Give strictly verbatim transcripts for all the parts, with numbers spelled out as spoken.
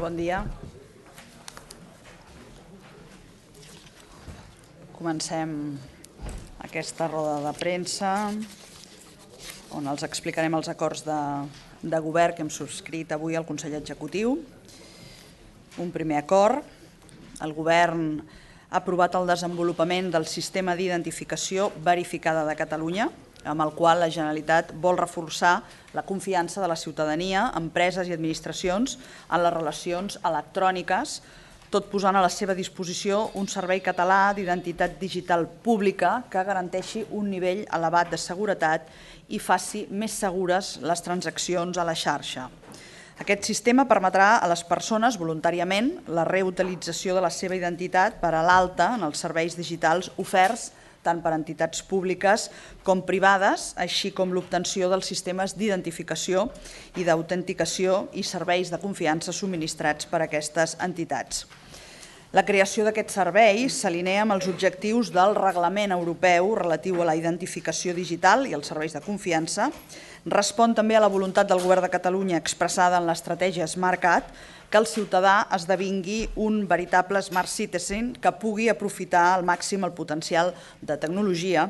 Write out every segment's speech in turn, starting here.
bon dia. Comencem aquesta roda de premsa on els explicarem els acords de, de govern que hem subscrit avui al Consell Executiu. Un primer acord. El govern ha aprovat el desenvolupament del sistema d'identificació verificada de Catalunya, amb el qual la Generalitat vol reforçar la confiança de la ciutadania, empreses i administracions en les relacions electròniques, tot posant a la seva disposició un servei català d'identitat digital pública que garanteixi un nivell elevat de seguretat i faci més segures les transaccions a la xarxa. Aquest sistema permetrà a les persones, voluntàriament, la reutilització de la seva identitat per a l'alta en els serveis digitals oferts tant per entitats públiques com privades, així com l'obtenció dels sistemes d'identificació i d'autenticació i serveis de confiança subministrats per aquestes entitats. La creació d'aquest servei s'alinea amb els objectius del Reglament Europeu relatiu a la identificació digital i els serveis de confiança, respon també a la voluntat del Govern de Catalunya expressada en l'estratègia SmartCat que el ciutadà esdevingui un veritable Smart Citizen que pugui aprofitar al màxim el potencial de tecnologia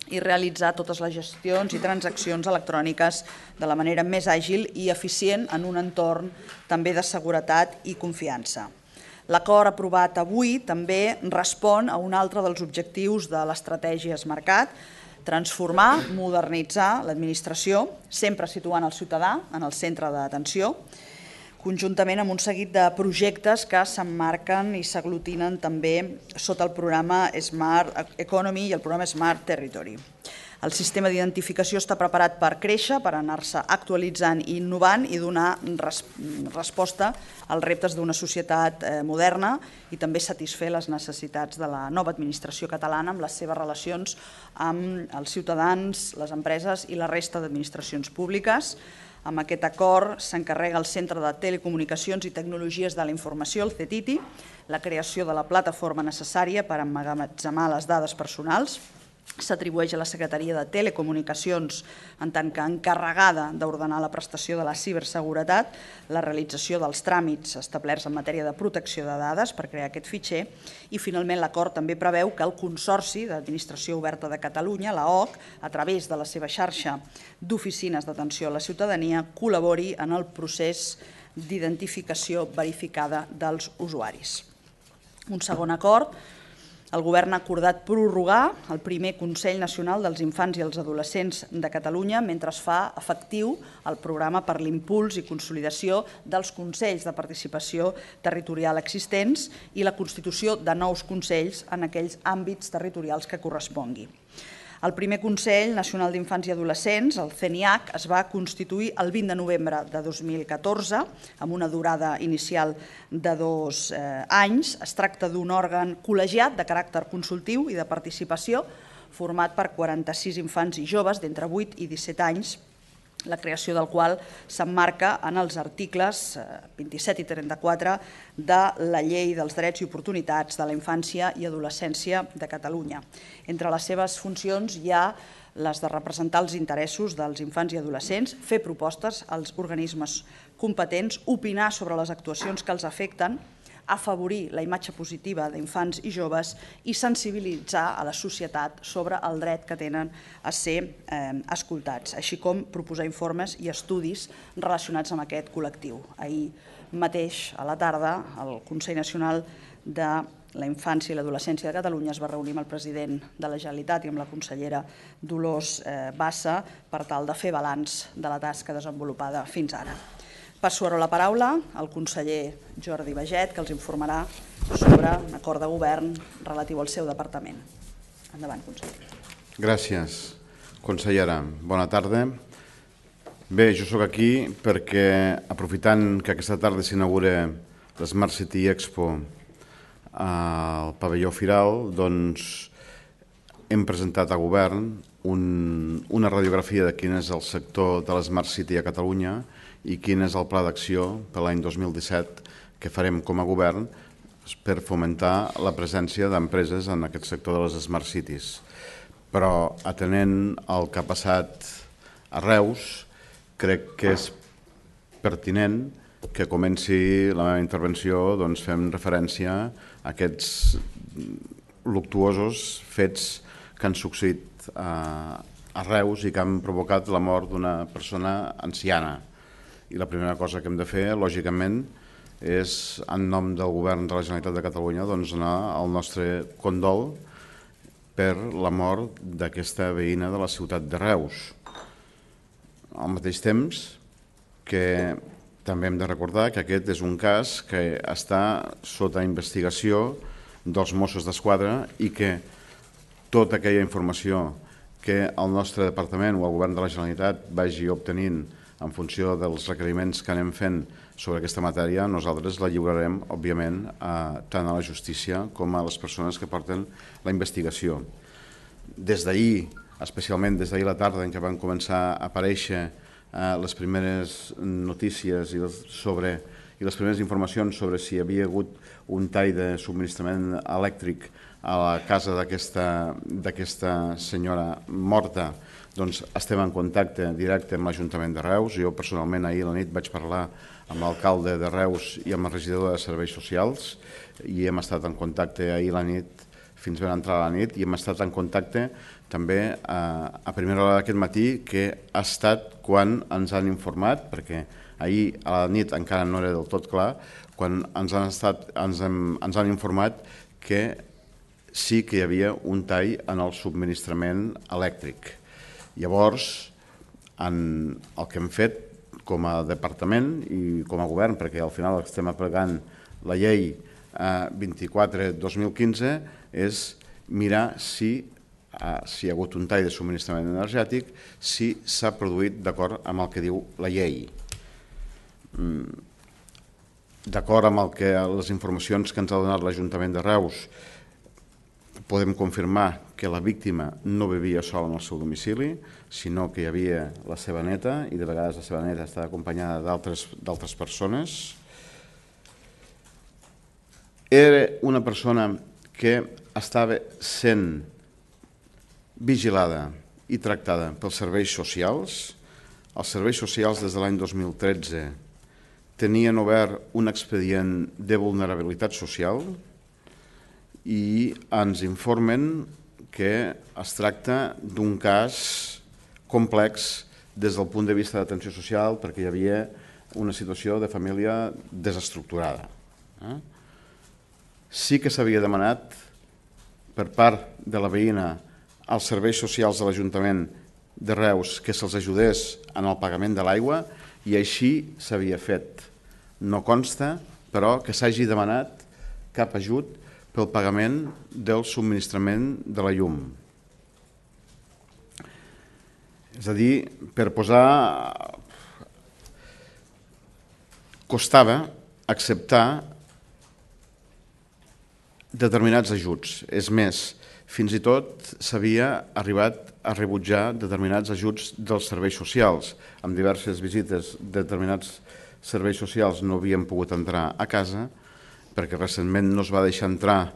i realitzar totes les gestions i transaccions electròniques de la manera més àgil i eficient en un entorn també de seguretat i confiança. L'acord aprovat avui també respon a un altre dels objectius de l'estratègia SmartCat, transformar, modernitzar l'administració, sempre situant el ciutadà en el centre d'atenció, conjuntament amb un seguit de projectes que s'emmarquen i s'aglutinen també sota el programa Smart Economy i el programa Smart Territory. El sistema d'identificació està preparat per créixer, per anar-se actualitzant i innovant i donar resposta als reptes d'una societat moderna i també satisfer les necessitats de la nova administració catalana amb les seves relacions amb els ciutadans, les empreses i la resta d'administracions públiques. Amb aquest acord s'encarrega el Centre de Telecomunicacions i Tecnologies de la Informació, el C E T I T I, la creació de la plataforma necessària per emmagatzemar les dades personals. S'atribueix a la Secretaria de Telecomunicacions en tant que encarregada d'ordenar la prestació de la ciberseguretat, la realització dels tràmits establerts en matèria de protecció de dades per crear aquest fitxer i finalment l'acord també preveu que el Consorci d'Administració Oberta de Catalunya, la O C, a través de la seva xarxa d'oficines d'atenció a la ciutadania, col·labori en el procés d'identificació verificada dels usuaris. Un segon acord. El Govern ha acordat prorrogar el primer Consell Nacional dels Infants i els Adolescents de Catalunya mentre es fa efectiu el programa per l'impuls i consolidació dels Consells de Participació Territorial existents i la constitució de nous consells en aquells àmbits territorials que correspongui. El primer Consell Nacional d'Infants i Adolescents, el C N I A C, es va constituir el vint de novembre de dos mil catorze amb una durada inicial de dos anys. Es tracta d'un òrgan col·legiat de caràcter consultiu i de participació format per quaranta-sis infants i joves d'entre vuit i disset anys, la creació del qual s'emmarca en els articles vint-i-set i trenta-quatre de la Llei dels Drets i Oportunitats de la Infància i Adolescència de Catalunya. Entre les seves funcions hi ha les de representar els interessos dels infants i adolescents, fer propostes als organismes competents, opinar sobre les actuacions que els afecten, afavorir la imatge positiva d'infants i joves i sensibilitzar a la societat sobre el dret que tenen a ser escoltats, així com proposar informes i estudis relacionats amb aquest col·lectiu. Ahir mateix, a la tarda, el Consell Nacional de la Infància i l'Adolescència de Catalunya es va reunir amb el president de la Generalitat i amb la consellera Dolors Bassa per tal de fer balanç de la tasca desenvolupada fins ara. Passo ara la paraula al conseller Jordi Baiget, que els informarà sobre l'acord de govern relatiu al seu departament. Endavant, conseller. Gràcies, consellera. Bona tarda. Bé, jo sóc aquí perquè, aprofitant que aquesta tarda s'inaugura l'Smart City Expo al pavelló Firal, doncs hem presentat al govern una radiografia de quin és el sector de l'Smart City a Catalunya i quin és el pla d'acció per l'any dos mil disset que farem com a govern per fomentar la presència d'empreses en aquest sector de les Smart Cities. Però, atenent el que ha passat a Reus, crec que és pertinent que comenci la meva intervenció doncs, fent referència a aquests luctuosos fets que han succeït a, a Reus i que han provocat la mort d'una persona anciana. I la primera cosa que hem de fer, lògicament, és, en nom del Govern de la Generalitat de Catalunya, doncs, donar el nostre condol per la mort d'aquesta veïna de la ciutat de Reus. Al mateix temps que també hem de recordar que aquest és un cas que està sota investigació dels Mossos d'Esquadra i que tota aquella informació que el nostre departament o el Govern de la Generalitat vagi obtenint en funció dels requeriments que anem fent sobre aquesta matèria, nosaltres la lliurarem, òbviament, a, tant a la justícia com a les persones que porten la investigació. Des d'ahir, especialment des d'ahir a la tarda en què van començar a aparèixer eh, les primeres notícies i, sobre, i les primeres informacions sobre si hi havia hagut un tall de subministrament elèctric a la casa d'aquesta senyora morta, doncs estem en contacte directe amb l'Ajuntament de Reus. Jo personalment ahir a la nit vaig parlar amb l'alcalde de Reus i amb el regidor de Serveis Socials i hem estat en contacte ahir a la nit fins ben entrar a la nit i hem estat en contacte també a, a primera hora d'aquest matí, que ha estat quan ens han informat, perquè ahir a la nit encara no era del tot clar, quan ens han, estat, ens hem, ens han informat que sí que hi havia un tall en el subministrament elèctric. Llavors, en el que hem fet com a departament i com a govern, perquè al final estem aplicant la llei vint-i-quatre dos mil quinze, és mirar si, si hi ha hagut un tall de subministrament energètic, si s'ha produït d'acord amb el que diu la llei. D'acord amb el que les informacions que ens ha donat l'Ajuntament de Reus, podem confirmar que la víctima no vivia sola en el seu domicili, sinó que hi havia la seva neta, i de vegades la seva neta estava acompanyada d'altres persones. Era una persona que estava sent vigilada i tractada pels serveis socials. Els serveis socials des de l'any dos mil tretze tenien obert un expedient de vulnerabilitat social i ens informen que es tracta d'un cas complex des del punt de vista d'atenció social perquè hi havia una situació de família desestructurada. Sí que s'havia demanat per part de la veïna als serveis socials de l'Ajuntament de Reus que se'ls ajudés en el pagament de l'aigua i així s'havia fet. No consta, però, que s'hagi demanat cap ajut pel pagament del subministrament de la llum. És a dir, per posar... costava acceptar determinats ajuts. És més, fins i tot s'havia arribat a rebutjar determinats ajuts dels serveis socials. Amb diverses visites de determinats serveis socials no havien pogut entrar a casa perquè recentment no es va deixar entrar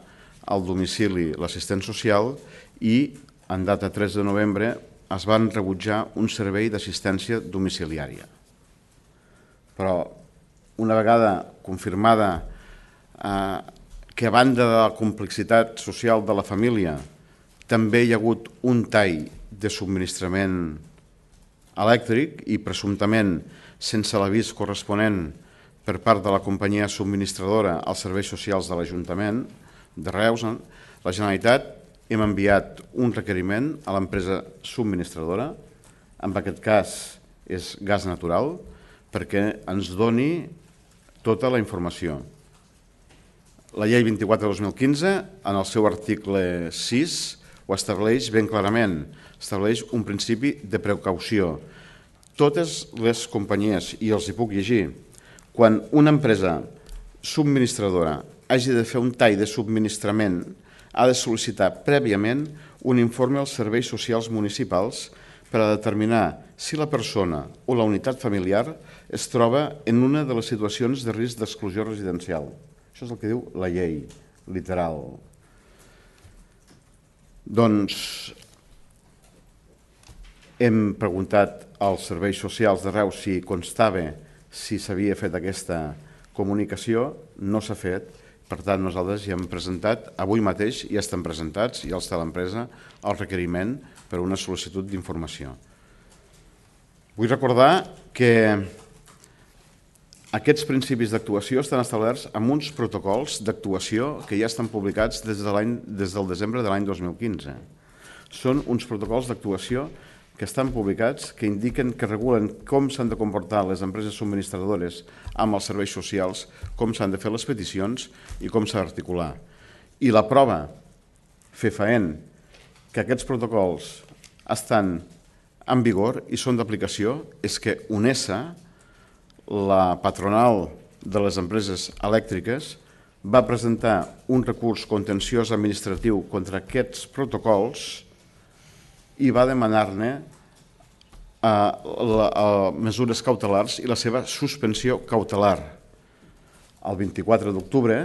al domicili l'assistent social i en data tres de novembre es van rebutjar un servei d'assistència domiciliària. Però una vegada confirmada eh, que a banda de la complexitat social de la família també hi ha hagut un tall de subministrament elèctric i presumptament sense l'avís corresponent per part de la companyia subministradora als serveis socials de l'Ajuntament de Reus, la Generalitat hem enviat un requeriment a l'empresa subministradora, en aquest cas és Gas Natural, perquè ens doni tota la informació. La llei vint-i-quatre dos mil quinze, en el seu article sis, ho estableix ben clarament, estableix un principi de precaució. Totes les companyies, i els hi puc llegir, quan una empresa subministradora hagi de fer un tall de subministrament, ha de sol·licitar prèviament un informe als serveis socials municipals per a determinar si la persona o la unitat familiar es troba en una de les situacions de risc d'exclusió residencial. Això és el que diu la llei, literal. Doncs hem preguntat als serveis socials de Reus si constava si s'havia fet aquesta comunicació, no s'ha fet. Per tant, nosaltres ja hem presentat, avui mateix ja estan presentats, ja els té l'empresa, el requeriment per una sol·licitud d'informació. Vull recordar que aquests principis d'actuació estan establerts amb uns protocols d'actuació que ja estan publicats des, de des del desembre de l'any dos mil quinze. Són uns protocols d'actuació que estan publicats, que indiquen, que regulen com s'han de comportar les empreses subministradores amb els serveis socials, com s'han de fer les peticions i com s'ha d'articular. I la prova fefaent que aquests protocols estan en vigor i són d'aplicació és que UNESA, la patronal de les empreses elèctriques, va presentar un recurs contenciós administratiu contra aquests protocols i va demanar-ne mesures cautelars i la seva suspensió cautelar. El vint-i-quatre d'octubre,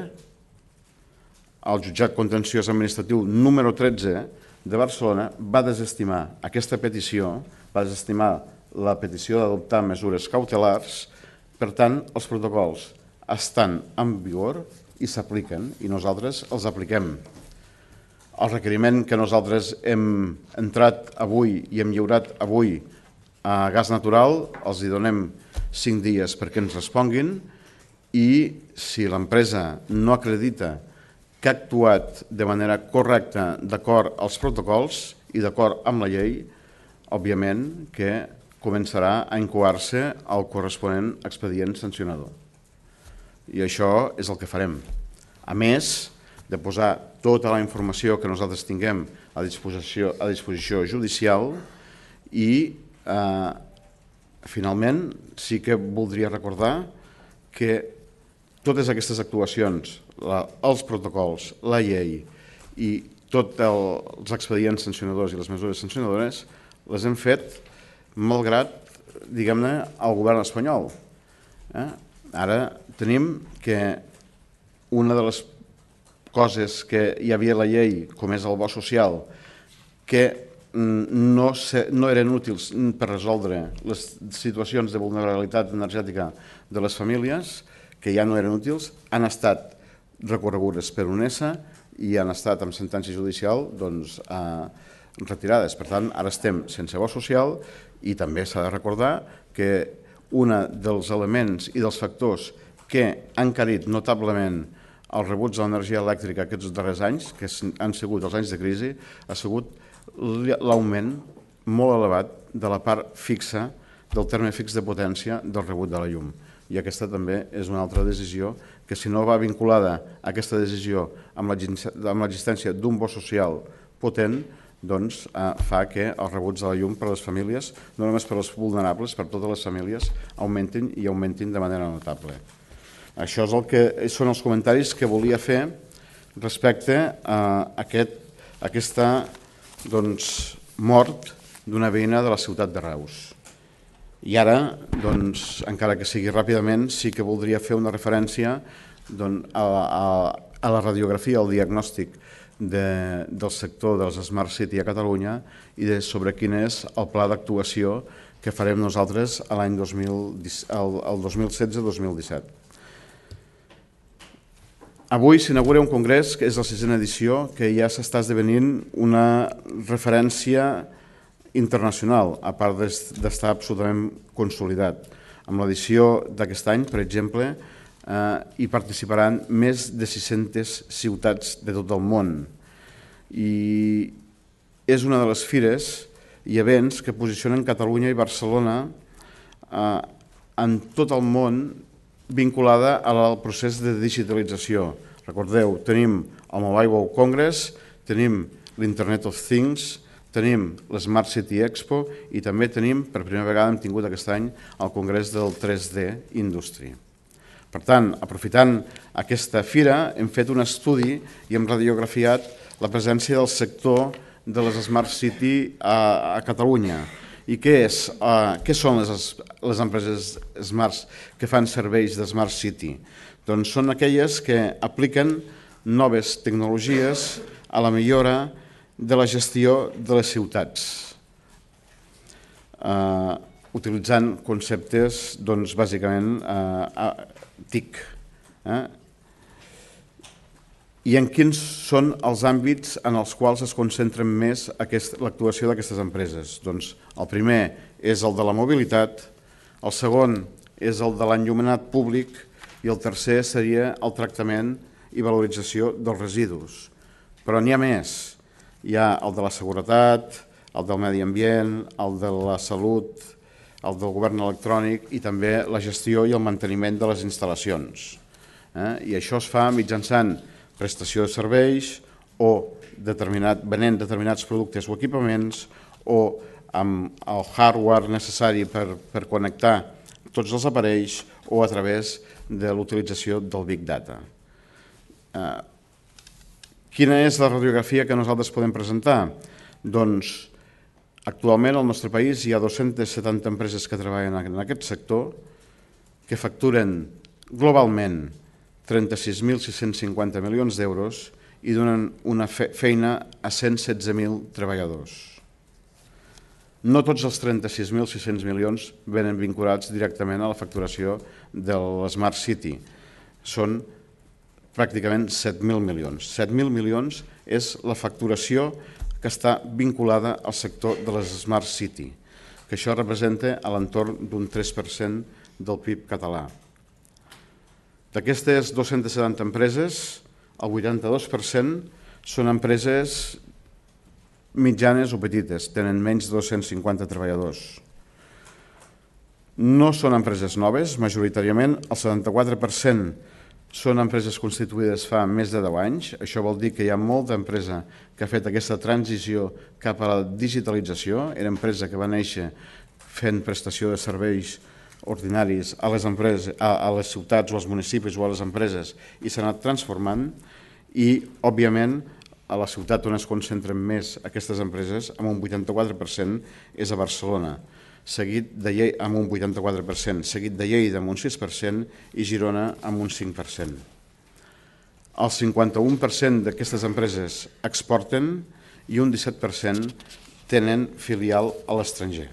el jutjat contenciós administratiu número tretze de Barcelona va desestimar aquesta petició, va desestimar la petició d'adoptar mesures cautelars. Per tant, els protocols estan en vigor i s'apliquen i nosaltres els apliquem. El requeriment que nosaltres hem entrat avui i hem lliurat avui a Gas Natural, els hi donem cinc dies perquè ens responguin i si l'empresa no acredita que ha actuat de manera correcta d'acord als protocols i d'acord amb la llei, òbviament que començarà a incoar-se el corresponent expedient sancionador. I això és el que farem. A més de posar tota la informació que nosaltres tinguem a disposició, a disposició judicial i, eh, finalment, sí que voldria recordar que totes aquestes actuacions, la, els protocols, la llei i tots el, els expedients sancionadors i les mesures sancionadores les hem fet malgrat, diguem-ne, el govern espanyol. Eh? Ara tenim que una de les coses que hi havia a la llei, com és el bo social, que no, se, no eren útils per resoldre les situacions de vulnerabilitat energètica de les famílies, que ja no eren útils, han estat recorregudes per UNESA i han estat amb sentència judicial doncs, eh, retirades. Per tant, ara estem sense bo social i també s'ha de recordar que un dels elements i dels factors que han encarit notablement els rebuts de l'energia elèctrica aquests darrers anys, que han sigut els anys de crisi, ha sigut l'augment molt elevat de la part fixa, del terme fix de potència del rebut de la llum. I aquesta també és una altra decisió que, si no va vinculada a aquesta decisió amb l'existència d'un bo social potent, doncs fa que els rebuts de la llum per a les famílies, no només per als vulnerables, per a totes les famílies, augmentin i augmentin de manera notable. Això és el que són els comentaris que volia fer respecte a aquest, aquesta doncs, mort d'una veïna de la ciutat de Reus. I ara, doncs, encara que sigui ràpidament, sí que voldria fer una referència doncs, a, a, a la radiografia, al diagnòstic de, del sector dels Smart City a Catalunya i de sobre quin és el pla d'actuació que farem nosaltres l'any dos mil setze dos mil disset. Avui s'inaugura un congrés, que és la sisena edició, que ja s'està esdevenint una referència internacional, a part d'estar absolutament consolidat. Amb l'edició d'aquest any, per exemple, hi participaran més de sis-centes ciutats de tot el món. I és una de les fires i events que posicionen Catalunya i Barcelona en tot el món vinculada al procés de digitalització. Recordeu, tenim el Mobile World Congress, tenim l'Internet of Things, tenim l'Smart City Expo i també tenim, per primera vegada hem tingut aquest any, el Congrés del tres D Industry. Per tant, aprofitant aquesta fira, hem fet un estudi i hem radiografiat la presència del sector de les Smart City a, a Catalunya. I què, és, uh, què són les, les empreses Smart que fan serveis de Smart City? Doncs són aquelles que apliquen noves tecnologies a la millora de la gestió de les ciutats. Uh, utilitzant conceptes, doncs, bàsicament, T I C. I en quins són els àmbits en els quals es concentren més l'actuació d'aquestes empreses? Doncs el primer és el de la mobilitat, el segon és el de l'enllumenat públic i el tercer seria el tractament i valorització dels residus. Però n'hi ha més. Hi ha el de la seguretat, el del medi ambient, el de la salut, el del govern electrònic i també la gestió i el manteniment de les instal·lacions. I això es fa mitjançant prestació de serveis o venent determinats productes o equipaments o amb el hardware necessari per connectar tots els aparells o a través de l'utilització del Big Data. Quina és la radiografia que nosaltres podem presentar? Doncs actualment al nostre país hi ha dos-centes setanta empreses que treballen en aquest sector que facturen globalment trenta-sis mil sis-cents cinquanta milions d'euros i donen una feina a cent setze mil treballadors. No tots els trenta-sis mil sis-cents milions venen vinculats directament a la facturació de l'Smart City. Són pràcticament set mil milions. set mil milions és la facturació que està vinculada al sector de les Smart City, que això representa a l'entorn d'un tres per cent del P I B català. D'aquestes dos-centes setanta empreses, el vuitanta-dos per cent són empreses mitjanes o petites, tenen menys de dos-cents cinquanta treballadors. No són empreses noves, majoritàriament el setanta-quatre per cent són empreses constituïdes fa més de deu anys. Això vol dir que hi ha molta empresa que ha fet aquesta transició cap a la digitalització. Era empresa que va néixer fent prestació de serveis ordinaris a les empreses, a les ciutats o als municipis o a les empreses i s'ha anat transformant i, òbviament, a la ciutat on es concentren més aquestes empreses, amb un vuitanta-quatre per cent, és a Barcelona, seguit de Lleida amb un vuitanta-quatre per cent, seguit de Lleida amb un sis per cent i Girona amb un cinc per cent. El cinquanta-un per cent d'aquestes empreses exporten i un disset per cent tenen filial a l'estranger.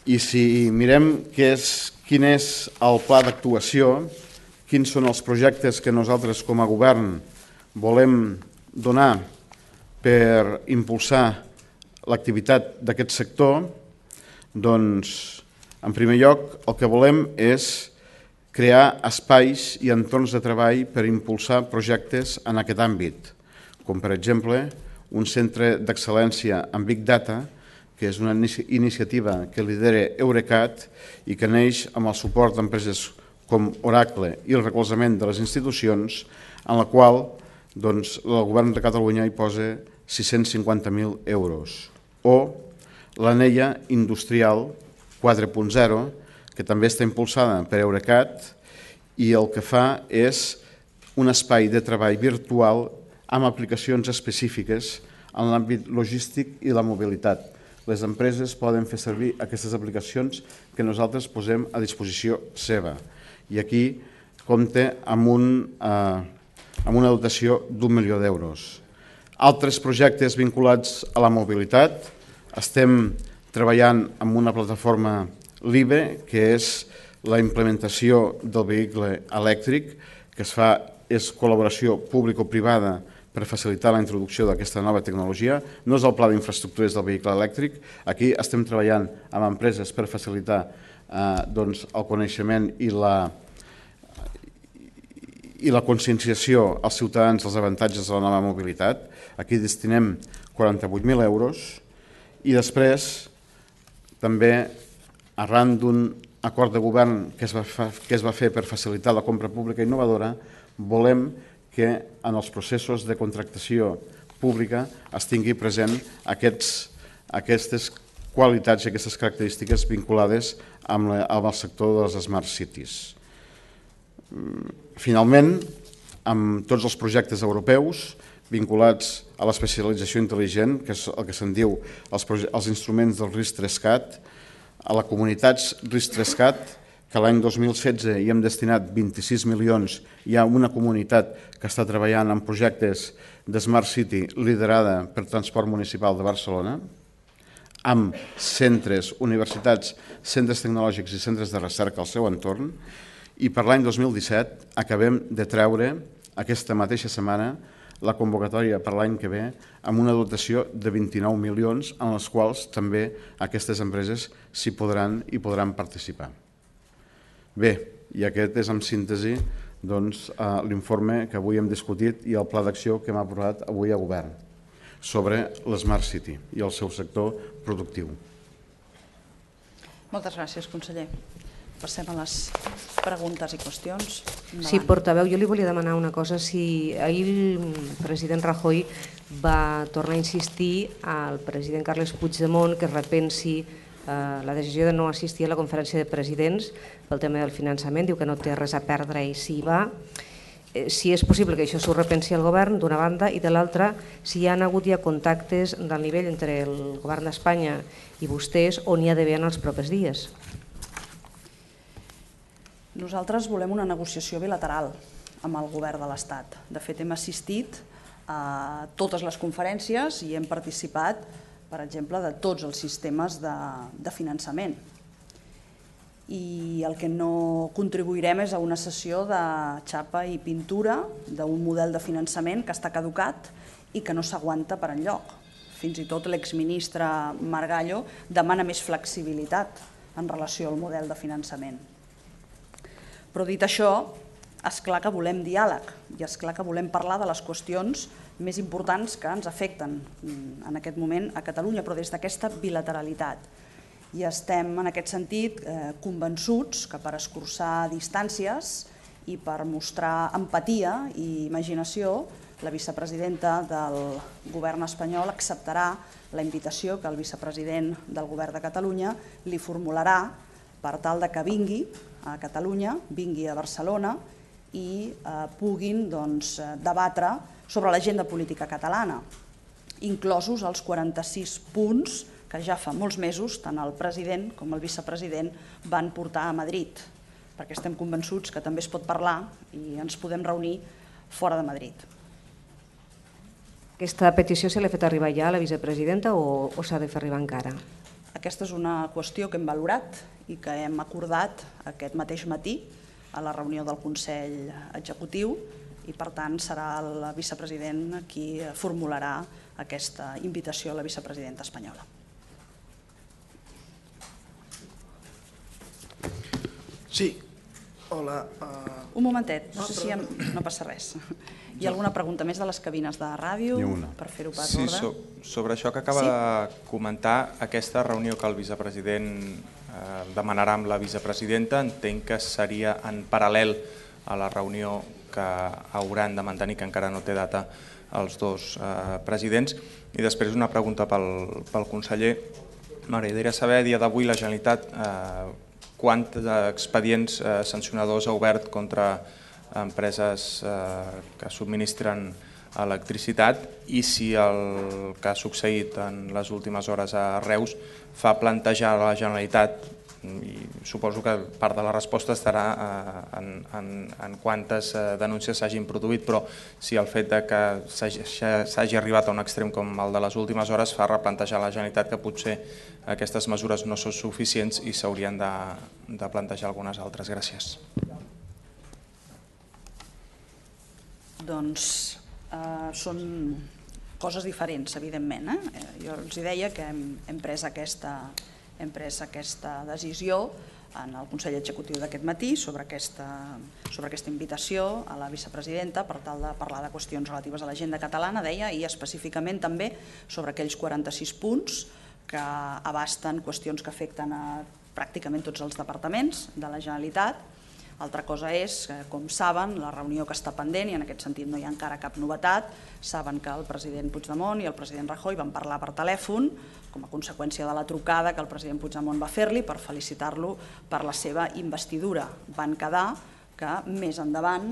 I si mirem quin és el pla d'actuació, quins són els projectes que nosaltres com a govern volem donar per impulsar l'activitat d'aquest sector, doncs, en primer lloc, el que volem és crear espais i entorns de treball per impulsar projectes en aquest àmbit, com per exemple un centre d'excel·lència en Big Data, que és una iniciativa que lidera Eurecat i que neix amb el suport d'empreses com Oracle i el recolzament de les institucions, en la qual doncs, el govern de Catalunya hi posa sis-cents cinquanta mil euros. O l'Anella Industrial quatre punt zero, que també està impulsada per Eurecat i el que fa és un espai de treball virtual amb aplicacions específiques en l'àmbit logístic i la mobilitat. Les empreses poden fer servir aquestes aplicacions que nosaltres posem a disposició seva. I aquí compta amb, un, eh, amb una dotació d'un milió d'euros. Altres projectes vinculats a la mobilitat. Estem treballant amb una plataforma LIBE, que és la implementació del vehicle elèctric, que es fa, és col·laboració público-privada per facilitar la introducció d'aquesta nova tecnologia. No és el pla d'infraestructures del vehicle elèctric. Aquí estem treballant amb empreses per facilitar eh, doncs, el coneixement i la, i la conscienciació als ciutadans dels avantatges de la nova mobilitat. Aquí destinem quaranta-vuit mil euros i després també arran d'un acord de govern que es, va fa, que es va fer per facilitar la compra pública innovadora, volem que en els processos de contractació pública es tingui present aquests, aquestes qualitats i aquestes característiques vinculades amb, la, amb el sector de les Smart Cities. Finalment, amb tots els projectes europeus vinculats a l'especialització intel·ligent, que és el que se'n diu els, els instruments del RIS-Trescat, a la comunitat RIS-Trescat, que l'any dos mil setze hi hem destinat vint-i-sis milions, hi ha una comunitat que està treballant en projectes de Smart City liderada per Transport Municipal de Barcelona. amb centres, universitats, centres tecnològics i centres de recerca al seu entorn, i per l'any dos mil disset acabem de treure aquesta mateixa setmana la convocatòria per l'any que ve amb una dotació de vint-i-nou milions en les quals també aquestes empreses s'hi podran i podran participar. Bé, i aquest és en síntesi l'informe que avui hem discutit i el pla d'acció que hem aprovat avui a govern sobre l'Smart City i el seu sector productiu. Moltes gràcies, conseller. Passem a les preguntes i qüestions. Sí, portaveu, jo li volia demanar una cosa. Si ahir el president Rajoy va tornar a insistir al president Carles Puigdemont que repensi la decisió de no assistir a la conferència de presidents pel tema del finançament, diu que no té res a perdre i s'hi va. Si és possible que això s'ho repensi el govern, d'una banda, i de l'altra, si hi ha hagut ja contactes del nivell entre el govern d'Espanya i vostès on hi ha d'haver en els propers dies. Nosaltres volem una negociació bilateral amb el govern de l'Estat. De fet, hem assistit a totes les conferències i hem participat, per exemple, de tots els sistemes de finançament. I el que no contribuirem és a una sessió de xapa i pintura d'un model de finançament que està caducat i que no s'aguanta per enlloc. Fins i tot l'exministre Margallo demana més flexibilitat en relació al model de finançament. Però dit això, és clar que volem diàleg i és clar que volem parlar de les qüestions més importants que ens afecten en aquest moment a Catalunya, però des d'aquesta bilateralitat. I estem, en aquest sentit, convençuts que per escurçar distàncies i per mostrar empatia i imaginació, la vicepresidenta del govern espanyol acceptarà la invitació que el vicepresident del govern de Catalunya li formularà per tal que vingui a Catalunya, vingui a Barcelona i puguin debatre sobre l'agenda política catalana, inclosos els quaranta-sis punts que ja fa molts mesos tant el president com el vicepresident van portar a Madrid, perquè estem convençuts que també es pot parlar i ens podem reunir fora de Madrid. Aquesta petició se l'ha fet arribar ja a la vicepresidenta o s'ha de fer arribar encara? Aquesta és una qüestió que hem valorat i que hem acordat aquest mateix matí a la reunió del Consell Executiu i, per tant, serà el vicepresident qui formularà aquesta invitació a la vicepresidenta espanyola. Sí, hola. Un momentet, no sé si no passa res. Hi ha alguna pregunta més de les cabines de ràdio per fer-ho per ordre? Sí, sobre això que acaba de comentar, aquesta reunió que el vicepresident demanarà amb la vicepresidenta, entenc que seria en paral·lel a la reunió que hauran de mantenir, que encara no té data, els dos presidents. I després una pregunta pel conseller. M'agradaria saber, a dia d'avui, la Generalitat quants expedients sancionadors ha obert contra empreses que subministren electricitat i si el que ha succeït en les últimes hores a Reus fa plantejar a la Generalitat, i suposo que part de la resposta estarà en quantes denúncies s'hagin produït, però si el fet que s'hagi arribat a un extrem com el de les últimes hores fa replantejar a la Generalitat que potser aquestes mesures no són suficients i s'haurien de plantejar algunes altres. Gràcies. Doncs són coses diferents, evidentment. Jo els deia que hem pres aquesta hem pres aquesta decisió en el Consell Executiu d'aquest matí sobre aquesta invitació a la vicepresidenta per tal de parlar de qüestions relatives a l'agenda catalana, deia, i específicament també sobre aquells quaranta-sis punts que abasten qüestions que afecten a pràcticament tots els departaments de la Generalitat. Altra cosa és, com saben, la reunió que està pendent, i en aquest sentit no hi ha encara cap novetat, saben que el president Puigdemont i el president Rajoy van parlar per telèfon com a conseqüència de la trucada que el president Puigdemont va fer-li per felicitar-lo per la seva investidura. Van quedar que més endavant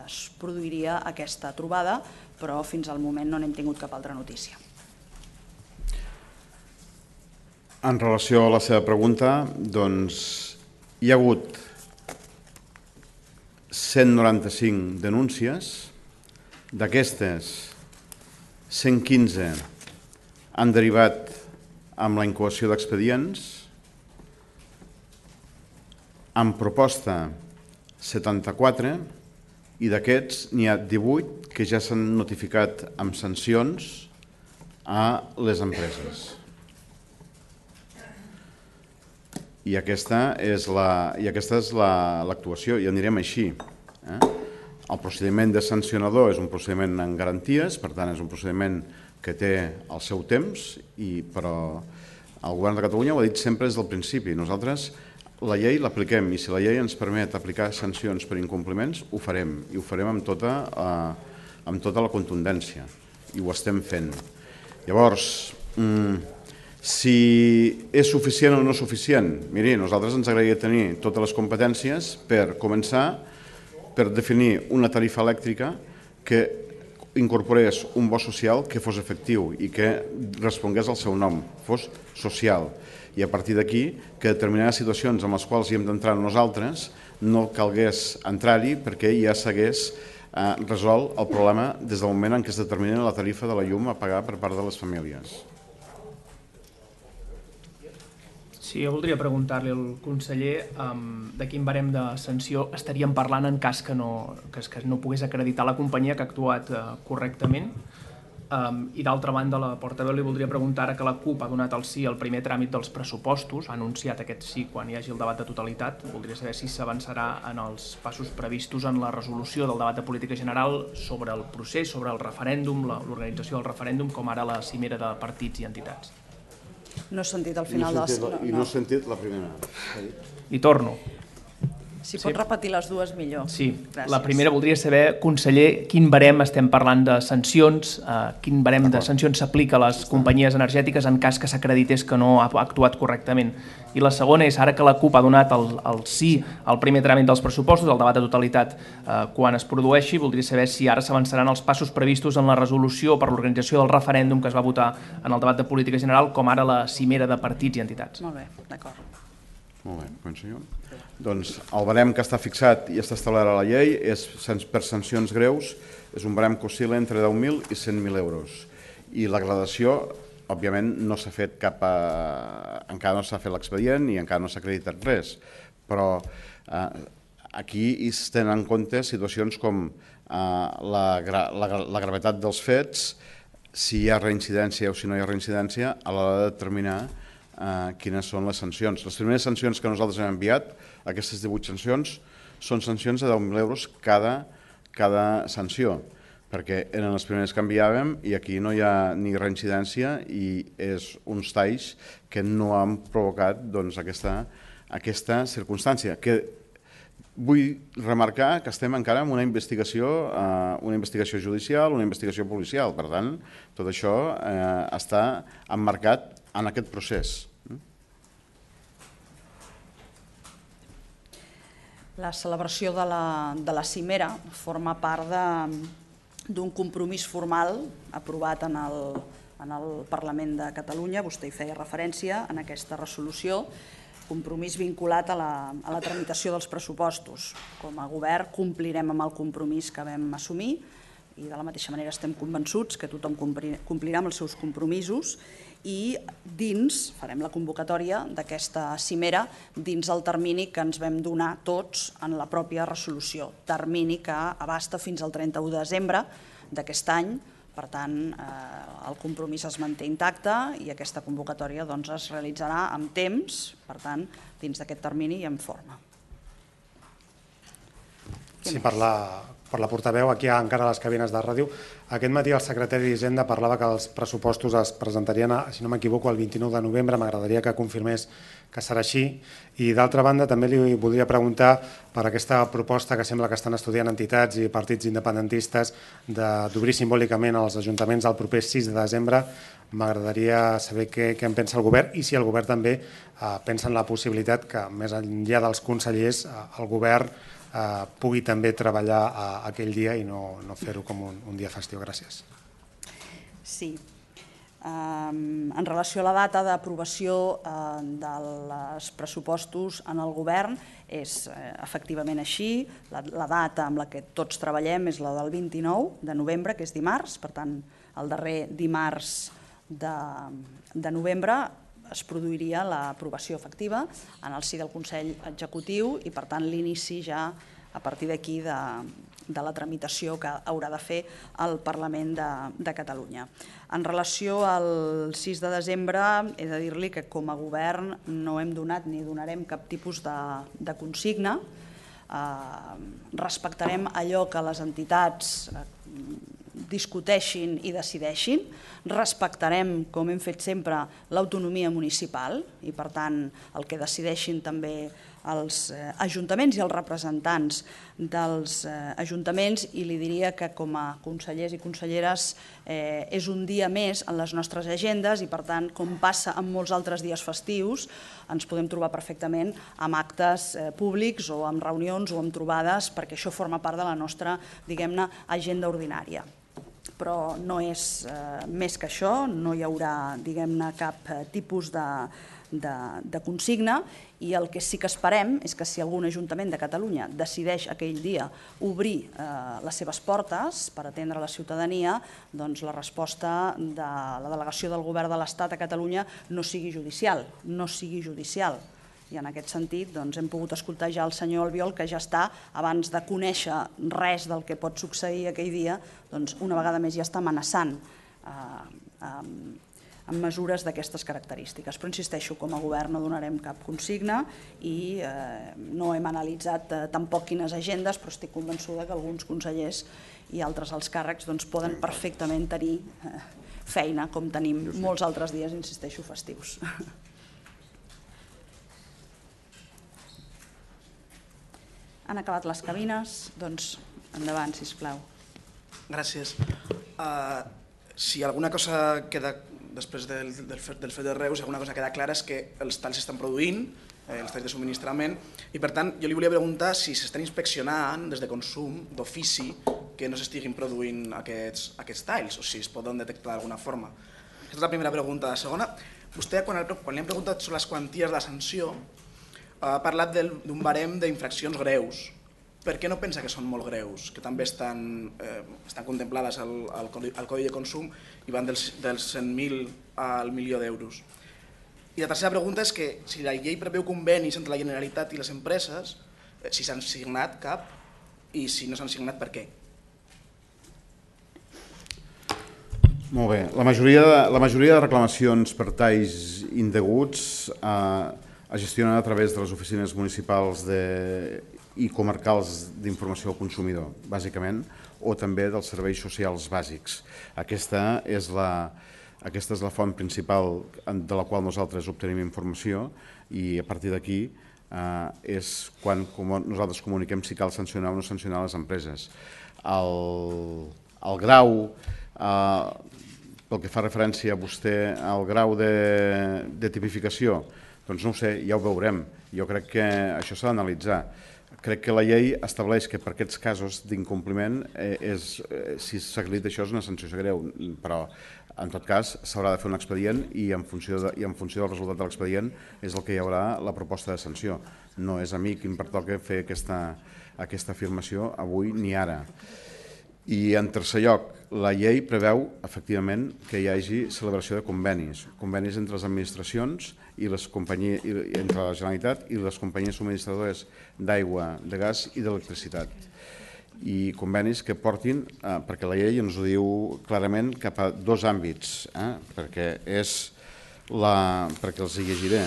es produiria aquesta trobada, però fins al moment no n'hem tingut cap altra notícia. En relació a la seva pregunta, doncs hi ha hagut cent noranta-cinc denúncies, d'aquestes cent quinze han derivat amb la incoació d'expedients, amb proposta setanta-quatre, i d'aquests n'hi ha divuit que ja s'han notificat amb sancions a les empreses. I aquesta és l'actuació, i anirem així. El procediment de sancionador és un procediment en garanties, per tant és un procediment que té el seu temps, però el govern de Catalunya ho ha dit sempre des del principi. Nosaltres la llei l'apliquem i si la llei ens permet aplicar sancions per incompliments, ho farem, i ho farem amb tota la contundència, i ho estem fent. Llavors, si és suficient o no suficient, miri, nosaltres ens agradaria tenir totes les competències per començar per definir una tarifa elèctrica que incorporés un bo social que fos efectiu i que respongués al seu nom, fos social. I a partir d'aquí, que determinades situacions en les quals hi hem d'entrar nosaltres no calgués entrar-hi perquè ja s'hagués resolt el problema des del moment en què es determina la tarifa de la llum a pagar per part de les famílies. Sí, jo voldria preguntar-li al conseller de quin barem de sanció estaríem parlant en cas que no pogués acreditar la companyia que ha actuat correctament. I d'altra banda, la portaveu li voldria preguntar ara que la CUP ha donat el sí al primer tràmit dels pressupostos, ha anunciat aquest sí quan hi hagi el debat de totalitat. Voldria saber si s'avançarà en els passos previstos en la resolució del debat de política general sobre el procés, sobre el referèndum, l'organització del referèndum, com ara la cimera de partits i entitats. No he sentit al final de la... I no he sentit la primera. I torno. Si pot repetir les dues, millor. Sí, la primera voldria saber, conseller, quin barem estem parlant de sancions, quin barem de sancions s'aplica a les companyies energètiques en cas que s'acredités que no ha actuat correctament. I la segona és, ara que la CUP ha donat el sí al primer tràmit dels pressupostos, el debat de totalitat, quan es produeixi, voldria saber si ara s'avançaran els passos previstos en la resolució per l'organització del referèndum que es va votar en el debat de política general, com ara la cimera de partits i entitats. Molt bé, d'acord. Molt bé, començo jo. Doncs el barem que està fixat i està establert a la llei és per sancions greus, és un barem que oscil·la entre deu mil i cent mil euros. I la gradació, òbviament, no s'ha fet cap... encara no s'ha fet l'expedient i encara no s'ha acreditat res, però aquí es tenen en compte situacions com la gravetat dels fets, si hi ha reincidència o si no hi ha reincidència, a l'hora de determinar quines són les sancions. Les primeres sancions que nosaltres hem enviat, aquestes divuit sancions, són sancions de deu mil euros cada sanció, perquè eren les primeres que enviàvem i aquí no hi ha ni reincidència i és uns talls que no han provocat aquesta circumstància. Vull remarcar que estem encara en una investigació una investigació judicial, una investigació policial, per tant, tot això està emmarcat en aquest procés. La celebració de la cimera forma part d'un compromís formal aprovat en el Parlament de Catalunya, vostè hi feia referència en aquesta resolució, compromís vinculat a la tramitació dels pressupostos. Com a govern complirem amb el compromís que vam assumir i de la mateixa manera estem convençuts que tothom complirà amb els seus compromisos i dins, farem la convocatòria d'aquesta cimera, dins el termini que ens vam donar tots en la pròpia resolució, termini que abasta fins al trenta-u de desembre d'aquest any, per tant, el compromís es manté intacte i aquesta convocatòria es realitzarà amb temps, per tant, dins d'aquest termini i en forma. Sí, per la portaveu, aquí encara a les cabines de ràdio. Aquest matí el secretari d'Hisenda parlava que els pressupostos es presentarien, si no m'equivoco, el vint-i-nou de novembre. M'agradaria que confirmés que serà així. I d'altra banda, també li voldria preguntar per aquesta proposta que sembla que estan estudiant entitats i partits independentistes d'obrir simbòlicament els ajuntaments el proper sis de desembre. M'agradaria saber què en pensa el govern i si el govern també pensa en la possibilitat que, més enllà dels consellers, el govern pugui també treballar aquell dia i no fer-ho com un dia festiu. Gràcies. Sí. En relació a la data d'aprovació dels pressupostos en el govern, és efectivament així. La data amb la que tots treballem és la del vint-i-nou de novembre, que és dimarts, per tant, el darrer dimarts de novembre es produiria l'aprovació efectiva en el si del Consell Executiu i, per tant, l'inici ja a partir d'aquí de la tramitació que haurà de fer el Parlament de Catalunya. En relació al sis de desembre, he de dir-li que com a govern no hem donat ni donarem cap tipus de consigna. Respectarem allò que les entitats discuteixin i decideixin, respectarem, com hem fet sempre, l'autonomia municipal i, per tant, el que decideixin també els ajuntaments i els representants dels ajuntaments, i li diria que com a consellers i conselleres és un dia més en les nostres agendes i, per tant, com passa en molts altres dies festius, ens podem trobar perfectament amb actes públics o amb reunions o amb trobades, perquè això forma part de la nostra, diguem-ne, agenda ordinària. Però no és més que això, no hi haurà, diguem-ne, cap tipus de consigna, i el que sí que esperem és que si algun ajuntament de Catalunya decideix aquell dia obrir les seves portes per atendre la ciutadania, doncs la resposta de la delegació del Govern de l'Estat a Catalunya no sigui judicial, no sigui judicial. I en aquest sentit hem pogut escoltar ja el senyor Albiol, que ja està, abans de conèixer res del que pot succeir aquell dia, una vegada més ja està amenaçant amb mesures d'aquestes característiques. Però insisteixo, com a govern no donarem cap consigna i no hem analitzat tampoc quines agendes, però estic convençuda que alguns consellers i altres alts càrrecs poden perfectament tenir feina, com tenim molts altres dies, insisteixo, festius. Han acabat les cabines, doncs endavant, sisplau. Gràcies. Si alguna cosa queda, després del fet de Reus, si alguna cosa queda clara és que els talls s'estan produint, els talls de subministrament, i per tant jo li volia preguntar si s'estan inspeccionant des de consum d'ofici que no s'estiguin produint aquests talls, o si es poden detectar d'alguna forma. Aquesta és la primera pregunta. La segona, vostè quan li hem preguntat sobre les quanties de la sanció, ha parlat d'un barem d'infraccions greus. Per què no pensa que són molt greus, que també estan contemplades al Codi de Consum i van dels cent mil al milió d'euros? I la tercera pregunta és que si la llei preveu convenis entre la Generalitat i les empreses, si s'han signat cap i si no s'han signat, per què? Molt bé. La majoria de reclamacions per talls indeguts es gestionen a través de les oficines municipals i comarcals d'informació al consumidor, bàsicament, o també dels serveis socials bàsics. Aquesta és la font principal de la qual nosaltres obtenim informació i a partir d'aquí és quan nosaltres comuniquem si cal sancionar o no sancionar les empreses. El grau, pel que fa referència a vostè, el grau de tipificació, doncs no ho sé, ja ho veurem. Jo crec que això s'ha d'analitzar. Crec que la llei estableix que per aquests casos d'incompliment, si s'acredita això, és una sanció greu, però en tot cas s'haurà de fer un expedient i en funció del resultat de l'expedient és el que hi haurà la proposta de sanció. No és a mi qui em pertoca fer aquesta afirmació avui ni ara. I en tercer lloc, la llei preveu efectivament que hi hagi celebració de convenis, convenis entre les administracions i entre la Generalitat i les companyies subministradores d'aigua, de gas i d'electricitat. I convenis que portin, perquè la llei ens ho diu clarament, cap a dos àmbits, perquè és la... perquè els hi llegiré.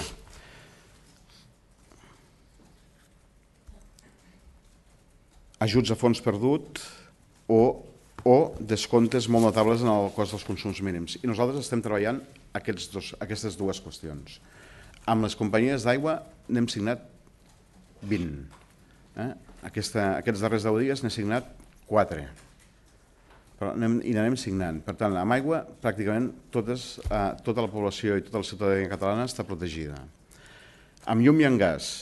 Ajuts a fons perdut o descomptes molt notables en el cost dels consums mínims. I nosaltres estem treballant aquestes dues qüestions. Amb les companyies d'aigua n'hem signat vint. Aquests darrers deu dies n'he signat quatre. I n'anem signant. Per tant, amb aigua pràcticament tota la població i tota la ciutadania catalana està protegida. Amb llum i amb gas,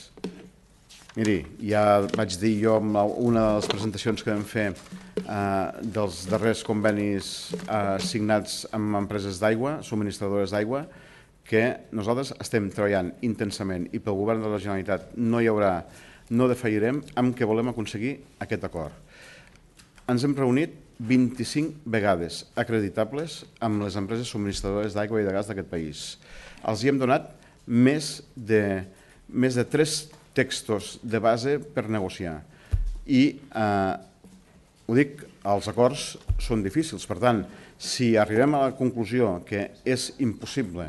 miri, ja vaig dir jo en una de les presentacions que vam fer dels darrers convenis signats amb empreses d'aigua, subministradores d'aigua, que nosaltres estem treballant intensament i pel govern de la Generalitat no hi haurà, no defallirem amb què volem aconseguir aquest acord. Ens hem reunit vint-i-cinc vegades acreditables amb les empreses subministradores d'aigua i de gas d'aquest país. Els hi hem donat més de, més de tres textos de base per negociar. I eh, ho dic, els acords són difícils. Per tant, si arribem a la conclusió que és impossible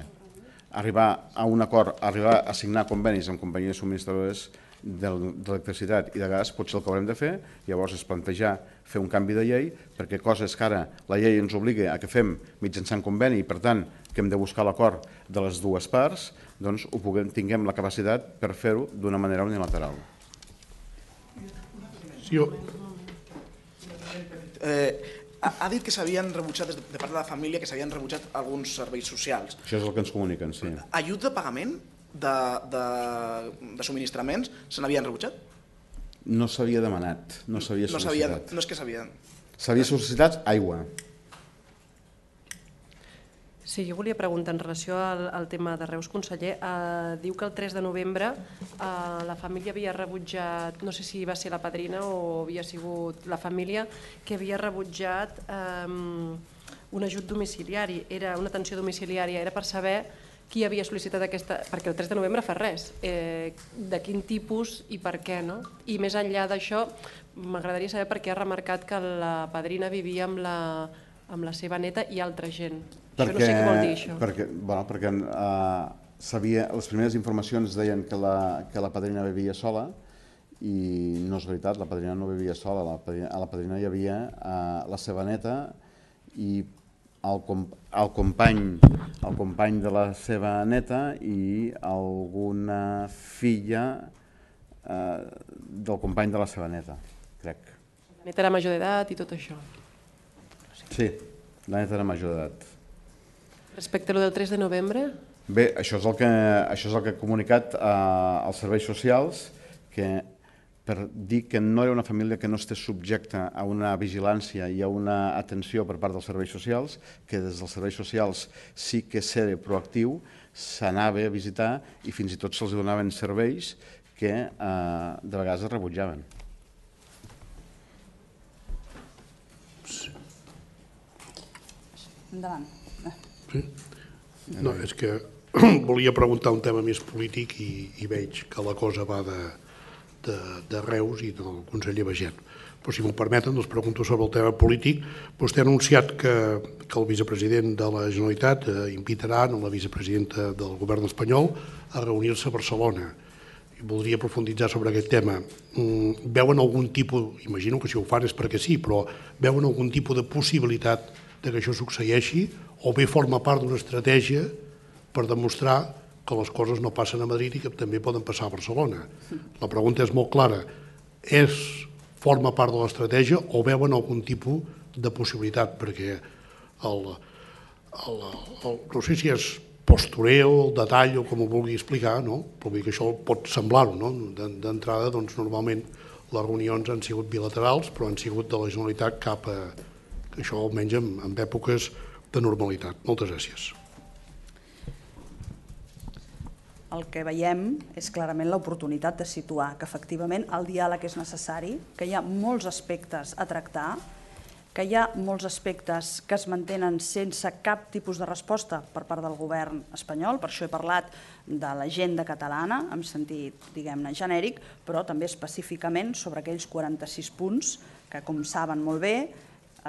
arribar a un acord, arribar a signar convenis amb companyies subministradores d'electricitat i de gas, potser el que haurem de fer llavors és plantejar fer un canvi de llei, perquè coses que ara la llei ens obliga a que fem mitjançant conveni i per tant que hem de buscar l'acord de les dues parts, doncs ho puguem, tinguem la capacitat per fer-ho d'una manera unilateral. Sí, jo... Eh, ha dit que s'havien rebutjat, de part de la família, que s'havien rebutjat alguns serveis socials. Això és el que ens comuniquen, sí. Ajut de pagament de, de, de subministraments se n'havien rebutjat? No s'havia demanat, no s'havia no sol·licitat. No és que s'havien... S'havia sol·licitat aigua. Sí, jo volia preguntar en relació al, al tema de Reus, conseller. Eh, diu que el tres de novembre eh, la família havia rebutjat, no sé si va ser la padrina o havia sigut la família, que havia rebutjat eh, un ajut domiciliari, era una atenció domiciliària, era per saber qui havia sol·licitat aquesta, perquè el tres de novembre fa res, eh, de quin tipus i per què, no? I més enllà d'això, m'agradaria saber per què ha remarcat que la padrina vivia amb la, amb la seva neta i altra gent. Perquè, això no sé què vol dir, això. Perquè, bueno, perquè uh, sabia, les primeres informacions deien que la, que la padrina vivia sola i no és veritat, la padrina no vivia sola, la padrina, a la padrina hi havia uh, la seva neta i el, el, company, el company de la seva neta i alguna filla uh, del company de la seva neta, crec. La neta era major d'edat i tot això. Sí, la neta era major d'edat. Respecte a lo del tres de novembre? Bé, això és el que, això és el que ha comunicat eh, als serveis socials, que per dir que no era una família que no estés subjecta a una vigilància i a una atenció per part dels serveis socials, que des dels serveis socials sí que ser proactiu, s'anava a visitar i fins i tot se'ls donaven serveis que eh, de vegades es rebutjaven. Endavant. Sí? No, és que volia preguntar un tema més polític i, i veig que la cosa va de, de, de Reus i del conseller Baiget. Però si m'ho permeten, doncs pregunto sobre el tema polític. Vostè ha anunciat que, que el vicepresident de la Generalitat eh, invitarà a la vicepresidenta del govern espanyol a reunir-se a Barcelona. I voldria profunditzar sobre aquest tema. Mm, veuen algun tipus, imagino que si ho fan és perquè sí, però veuen algun tipus de possibilitat de que això succeeixi o bé forma part d'una estratègia per demostrar que les coses no passen a Madrid i que també poden passar a Barcelona. La pregunta és molt clara. És, forma part de l'estratègia o veuen algun tipus de possibilitat? Perquè el, el, el, no sé si és postureo, el detall o com ho vulgui explicar, no? Però vull dir que això pot semblar-ho, no? D'entrada, doncs, normalment les reunions han sigut bilaterals, però han sigut de la Generalitat cap a això, almenys en, en èpoques de normalitat. Moltes gràcies. El que veiem és clarament l'oportunitat de situar que efectivament el diàleg és necessari, que hi ha molts aspectes a tractar, que hi ha molts aspectes que es mantenen sense cap tipus de resposta per part del govern espanyol, per això he parlat de l'agenda catalana, en sentit, diguem-ne, genèric, però també específicament sobre aquells quaranta-sis punts que, com saben molt bé,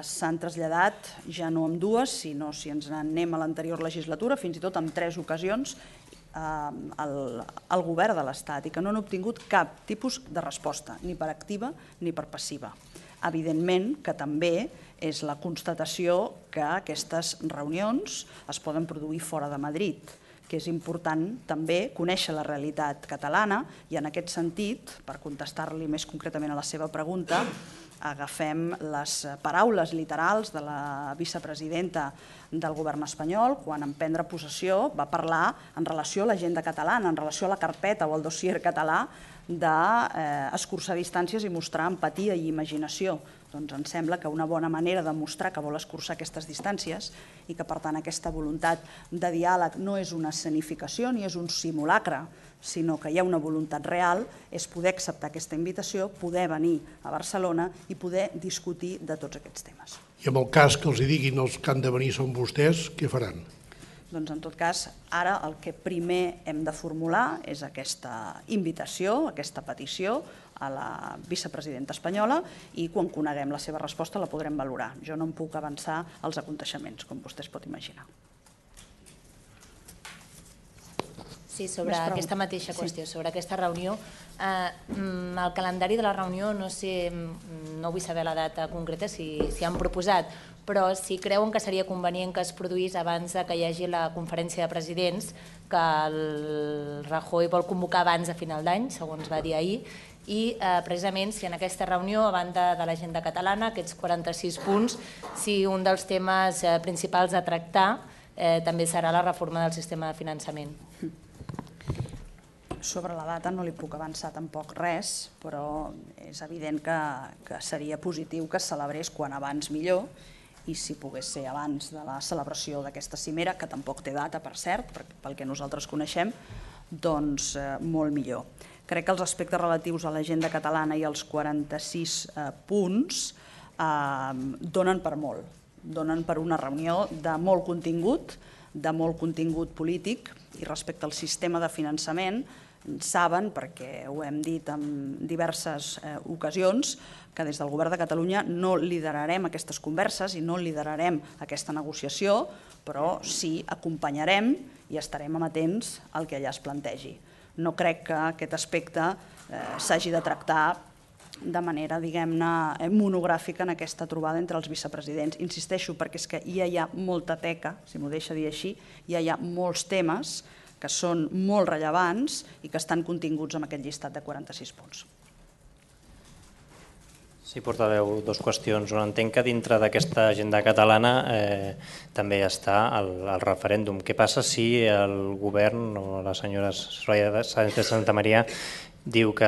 s'han traslladat ja no amb dues, sinó si ens anem a l'anterior legislatura, fins i tot en tres ocasions, al govern de l'Estat i que no han obtingut cap tipus de resposta, ni per activa ni per passiva. Evidentment que també és la constatació que aquestes reunions es poden produir fora de Madrid, que és important també conèixer la realitat catalana i en aquest sentit, per contestar-li més concretament a la seva pregunta, agafem les paraules literals de la vicepresidenta del govern espanyol quan en prendre possessió va parlar en relació a l'agenda catalana, en relació a la carpeta o al dossier català d'escurçar distàncies i mostrar empatia i imaginació. Doncs ens sembla que una bona manera de mostrar que vol escurçar aquestes distàncies i que per tant aquesta voluntat de diàleg no és una escenificació ni és un simulacre, sinó que hi ha una voluntat real, és poder acceptar aquesta invitació, poder venir a Barcelona i poder discutir de tots aquests temes. I en el cas que els hi diguin els que han de venir són vostès, què faran? Doncs en tot cas, ara el que primer hem de formular és aquesta invitació, aquesta petició a la vicepresidenta espanyola i quan coneguem la seva resposta la podrem valorar. Jo no em puc avançar als aconteixements, com vostè es pot imaginar. Sí, sobre aquesta mateixa qüestió, sobre aquesta reunió. El calendari de la reunió, no sé, no vull saber la data concreta si han proposat, però si creuen que seria convenient que es produís abans que hi hagi la conferència de presidents, que el Rajoy vol convocar abans de final d'any, segons va dir ahir, i precisament si en aquesta reunió, a banda de l'agenda catalana, aquests quaranta-sis punts, si un dels temes principals a tractar també serà la reforma del sistema de finançament. Sobre la data no li puc avançar tampoc res, però és evident que seria positiu que es celebrés quan abans millor i si pogués ser abans de la celebració d'aquesta cimera, que tampoc té data, per cert, pel que nosaltres coneixem, doncs molt millor. Crec que els aspectes relatius a l'agenda catalana i els quaranta-sis punts donen per molt, donen per una reunió de molt contingut, de molt contingut polític, i respecte al sistema de finançament saben, perquè ho hem dit en diverses ocasions, que des del Govern de Catalunya no liderarem aquestes converses i no liderarem aquesta negociació, però sí acompanyarem i estarem amatents al que allà es plantegi. No crec que aquest aspecte s'hagi de tractar de manera, diguem-ne, monogràfica en aquesta trobada entre els vicepresidents. Insisteixo, perquè és que ja hi ha molta teca, si m'ho deixa dir així, ja hi ha molts temes que són molt rellevants i que estan continguts en aquest llistat de quaranta-sis punts. Sí, portaveu, dues qüestions. Una, entenc que dintre d'aquesta agenda catalana també està el referèndum. Què passa si el govern o la senyora Soraya Sáenz de Santamaría diu que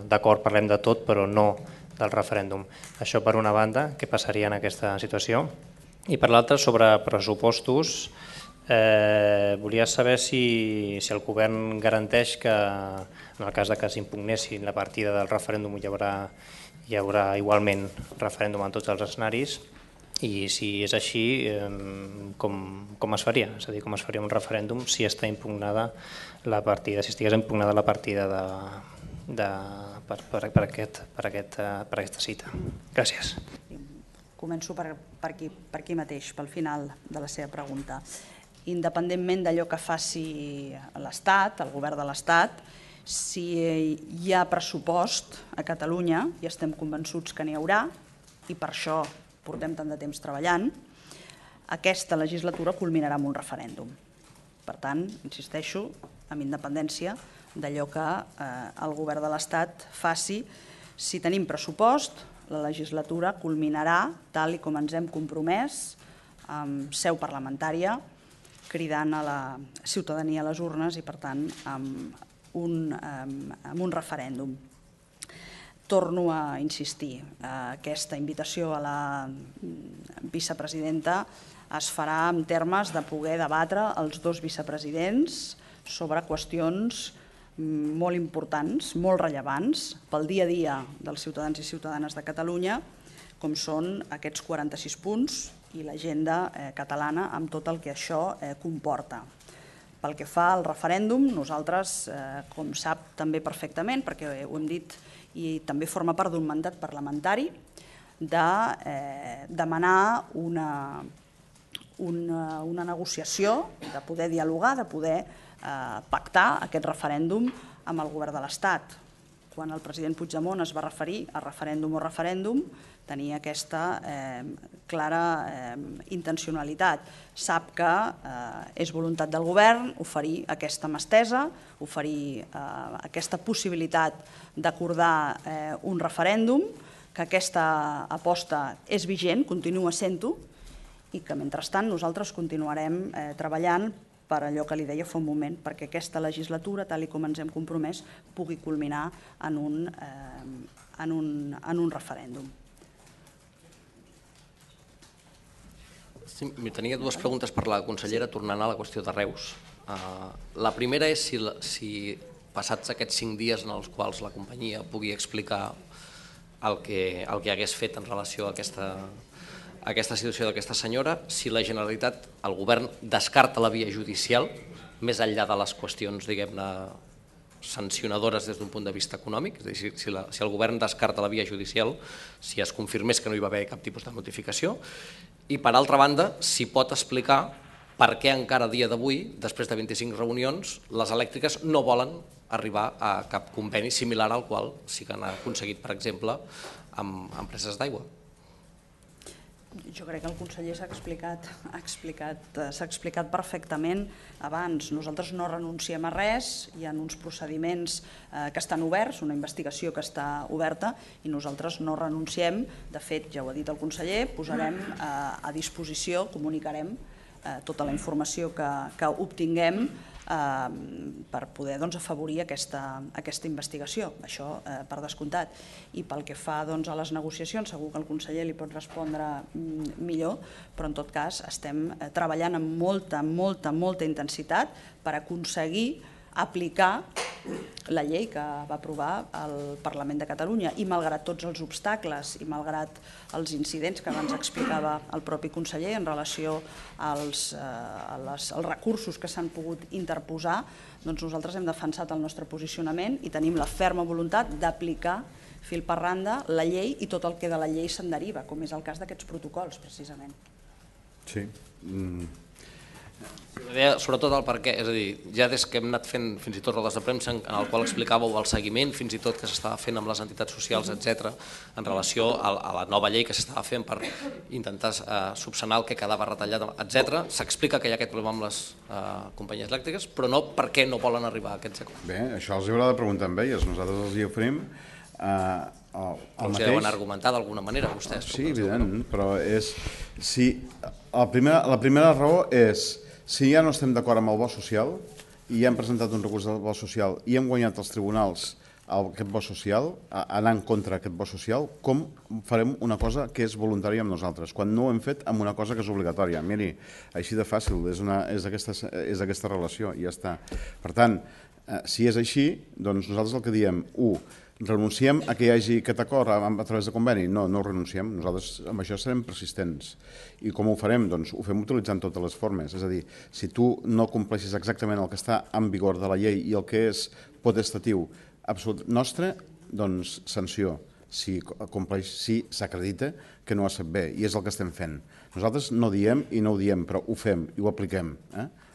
d'acord parlem de tot però no del referèndum? Això per una banda, què passaria en aquesta situació? I per l'altra, sobre pressupostos, volia saber si el govern garanteix que en el cas que s'impugnessin la partida del referèndum hi haurà igualment referèndum en tots els escenaris i si és així, com es faria? És a dir, com es faria un referèndum si està impugnada la partida, si estigués impugnada la partida per aquesta cita. Gràcies. Començo per aquí mateix, pel final de la seva pregunta. Independentment d'allò que faci l'Estat, el govern de l'Estat, si hi ha pressupost a Catalunya, i estem convençuts que n'hi haurà, i per això portem tant de temps treballant, aquesta legislatura culminarà amb un referèndum. Per tant, insisteixo, amb independència d'allò que el govern de l'Estat faci, si tenim pressupost, la legislatura culminarà, tal com ens hem compromès, amb seu parlamentària, cridant a la ciutadania a les urnes i, per tant, amb un referèndum. Torno a insistir, aquesta invitació a la vicepresidenta es farà en termes de poder debatre els dos vicepresidents sobre qüestions molt importants, molt rellevants pel dia a dia dels ciutadans i ciutadanes de Catalunya, com són aquests quaranta-sis punts i l'agenda catalana amb tot el que això comporta. Pel que fa al referèndum, nosaltres, com sap també perfectament, perquè ho hem dit i també forma part d'un mandat parlamentari, de demanar una negociació, de poder dialogar, de poder pactar aquest referèndum amb el govern de l'Estat. Quan el president Puigdemont es va referir a referèndum o referèndum, tenia aquesta clara intencionalitat. Sap que és voluntat del govern oferir aquesta mà estesa, oferir aquesta possibilitat d'acordar un referèndum, que aquesta aposta és vigent, continua sent-ho, i que mentrestant nosaltres continuarem treballant per allò que li deia fa un moment, perquè aquesta legislatura, tal com ens hem compromès, pugui culminar en un referèndum. Tenia dues preguntes per la consellera, tornant a la qüestió de Reus. La primera és si passats aquests cinc dies en els quals la companyia pugui explicar el que, el que hagués fet en relació a aquesta, a aquesta situació d'aquesta senyora, si la Generalitat, el govern, descarta la via judicial, més enllà de les qüestions, diguem-ne, sancionadores des d'un punt de vista econòmic, és a dir, si, la, si el govern descarta la via judicial, si es confirmés que no hi va haver cap tipus de notificació, i per altra banda, si pot explicar per què encara a dia d'avui, després de vint-i-cinc reunions, les elèctriques no volen arribar a cap conveni similar al qual sí que han aconseguit, per exemple, amb empreses d'aigua. Jo crec que el conseller s'ha explicat, ha explicat, s'ha explicat perfectament abans. Nosaltres no renunciem a res, hi ha uns procediments eh, que estan oberts, una investigació que està oberta i nosaltres no renunciem. De fet, ja ho ha dit el conseller, posarem eh, a disposició, comunicarem eh, tota la informació que, que obtinguem per poder afavorir aquesta investigació, això per descomptat. I pel que fa a les negociacions, segur que el conseller li pot respondre millor, però en tot cas estem treballant amb molta, molta, molta intensitat per aconseguir aplicar la llei que va aprovar el Parlament de Catalunya i malgrat tots els obstacles i malgrat els incidents que abans explicava el propi conseller en relació als, eh, als recursos que s'han pogut interposar, doncs nosaltres hem defensat el nostre posicionament i tenim la ferma voluntat d'aplicar fil per randa la llei i tot el que de la llei se'n deriva, com és el cas d'aquests protocols, precisament. Sí. Mm. Sobretot el per què, és a dir, ja des que hem anat fent fins i tot rodes de premsa en el qual explicàveu el seguiment fins i tot que s'estava fent amb les entitats socials, etcètera, en relació a la nova llei que s'estava fent per intentar subsanar el que quedava retallat, etcètera, s'explica que hi ha aquest problema amb les companyies elèctriques, però no per què no volen arribar a aquests acords. Bé, això els haurà de preguntar amb elles, nosaltres els hi oferim el mateix. Deuen argumentar d'alguna manera vostès. Sí, evident, però és... La primera raó és si ja no estem d'acord amb el bo social i ja hem presentat un recurs del bo social i hem guanyat els tribunals aquest bo social, anar en contra d'aquest bo social, com farem una cosa que és voluntària amb nosaltres, quan no ho hem fet amb una cosa que és obligatòria? Miri, així de fàcil, és aquesta relació i ja està. Per tant, si és així, doncs nosaltres el que diem, u, renunciem a que hi hagi aquest acord a través de conveni? No, no renunciem. Nosaltres amb això serem persistents. I com ho farem? Doncs ho fem utilitzant totes les formes. És a dir, si tu no compleixes exactament el que està en vigor de la llei i el que és potestatiu absolut nostre, doncs sanció. Si s'acredita que no ha estat bé, i és el que estem fent. Nosaltres no diem i no ho diem, però ho fem i ho apliquem.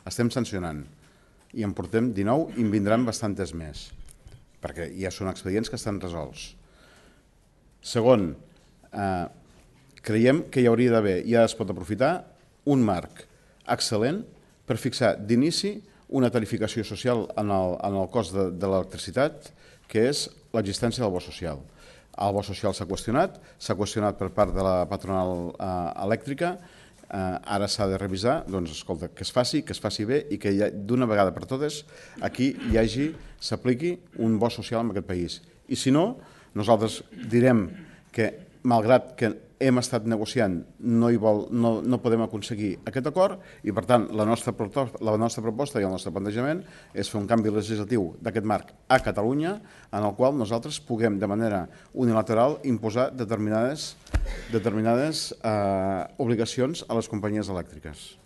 Estem sancionant. I en portem dinou i en vindran bastantes més, perquè ja són expedients que estan resolts. Segon, creiem que hi hauria d'haver, ja es pot aprofitar, un marc excel·lent per fixar d'inici una tarificació social en el cost de l'electricitat, que és l'existència del bo social. El bo social s'ha qüestionat, s'ha qüestionat per part de la patronal elèctrica, ara s'ha de revisar, doncs escolta, que es faci, que es faci bé i que d'una vegada per totes aquí hi hagi, s'apliqui un bo social en aquest país. I si no, nosaltres direm que malgrat que hem estat negociant no podem aconseguir aquest acord i per tant la nostra proposta i el nostre plantejament és fer un canvi legislatiu d'aquest marc a Catalunya en el qual nosaltres puguem de manera unilateral imposar determinades obligacions a les companyies elèctriques.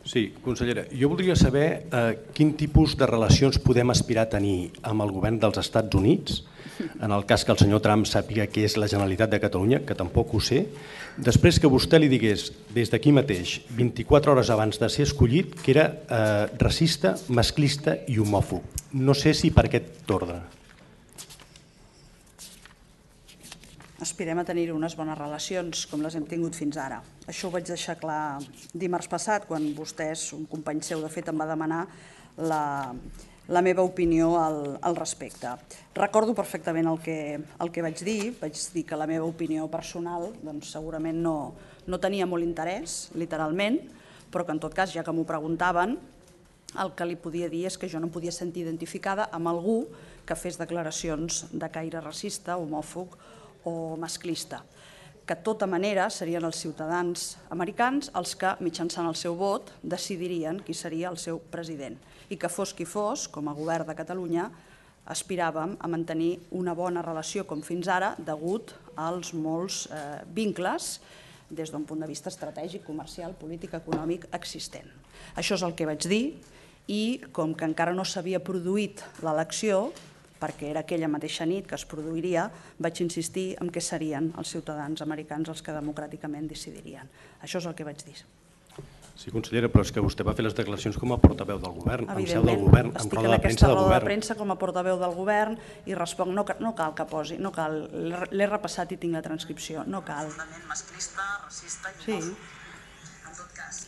Sí, consellera, jo voldria saber quin tipus de relacions podem aspirar a tenir amb el govern dels Estats Units, en el cas que el senyor Trump sàpiga que és la Generalitat de Catalunya, que tampoc ho sé, després que vostè li digués des d'aquí mateix, vint-i-quatre hores abans de ser escollit, que era racista, masclista i homòfob. No sé si per aquest ordre. Aspirem a tenir unes bones relacions com les hem tingut fins ara. Això ho vaig deixar clar dimarts passat, quan vostès, un company seu, de fet, em va demanar la meva opinió al respecte. Recordo perfectament el que vaig dir, vaig dir que la meva opinió personal segurament no tenia molt interès, literalment, però que en tot cas, ja que m'ho preguntaven, el que li podia dir és que jo no podia sentir identificada amb algú que fes declaracions de caire racista, homòfob o masclista. que de tota manera serien els ciutadans americans els que, mitjançant el seu vot, decidirien qui seria el seu president. I que fos qui fos, com a govern de Catalunya, aspiràvem a mantenir una bona relació com fins ara, degut als molts vincles des d'un punt de vista estratègic, comercial, polític, econòmic existent. Això és el que vaig dir i com que encara no s'havia produït l'elecció, perquè era aquella mateixa nit que es produiria, vaig insistir en què serien els ciutadans americans els que democràticament decidirien. Això és el que vaig dir. Sí, consellera, però és que vostè va fer les declaracions com a portaveu del govern, en seu del Evidentment, govern, en estic roda en de premsa aquesta del roda de govern. premsa com a portaveu del govern i responc, no cal que posi, no cal, l'he repassat i tinc la transcripció, no cal. Masclista, racista i sí. En tot cas.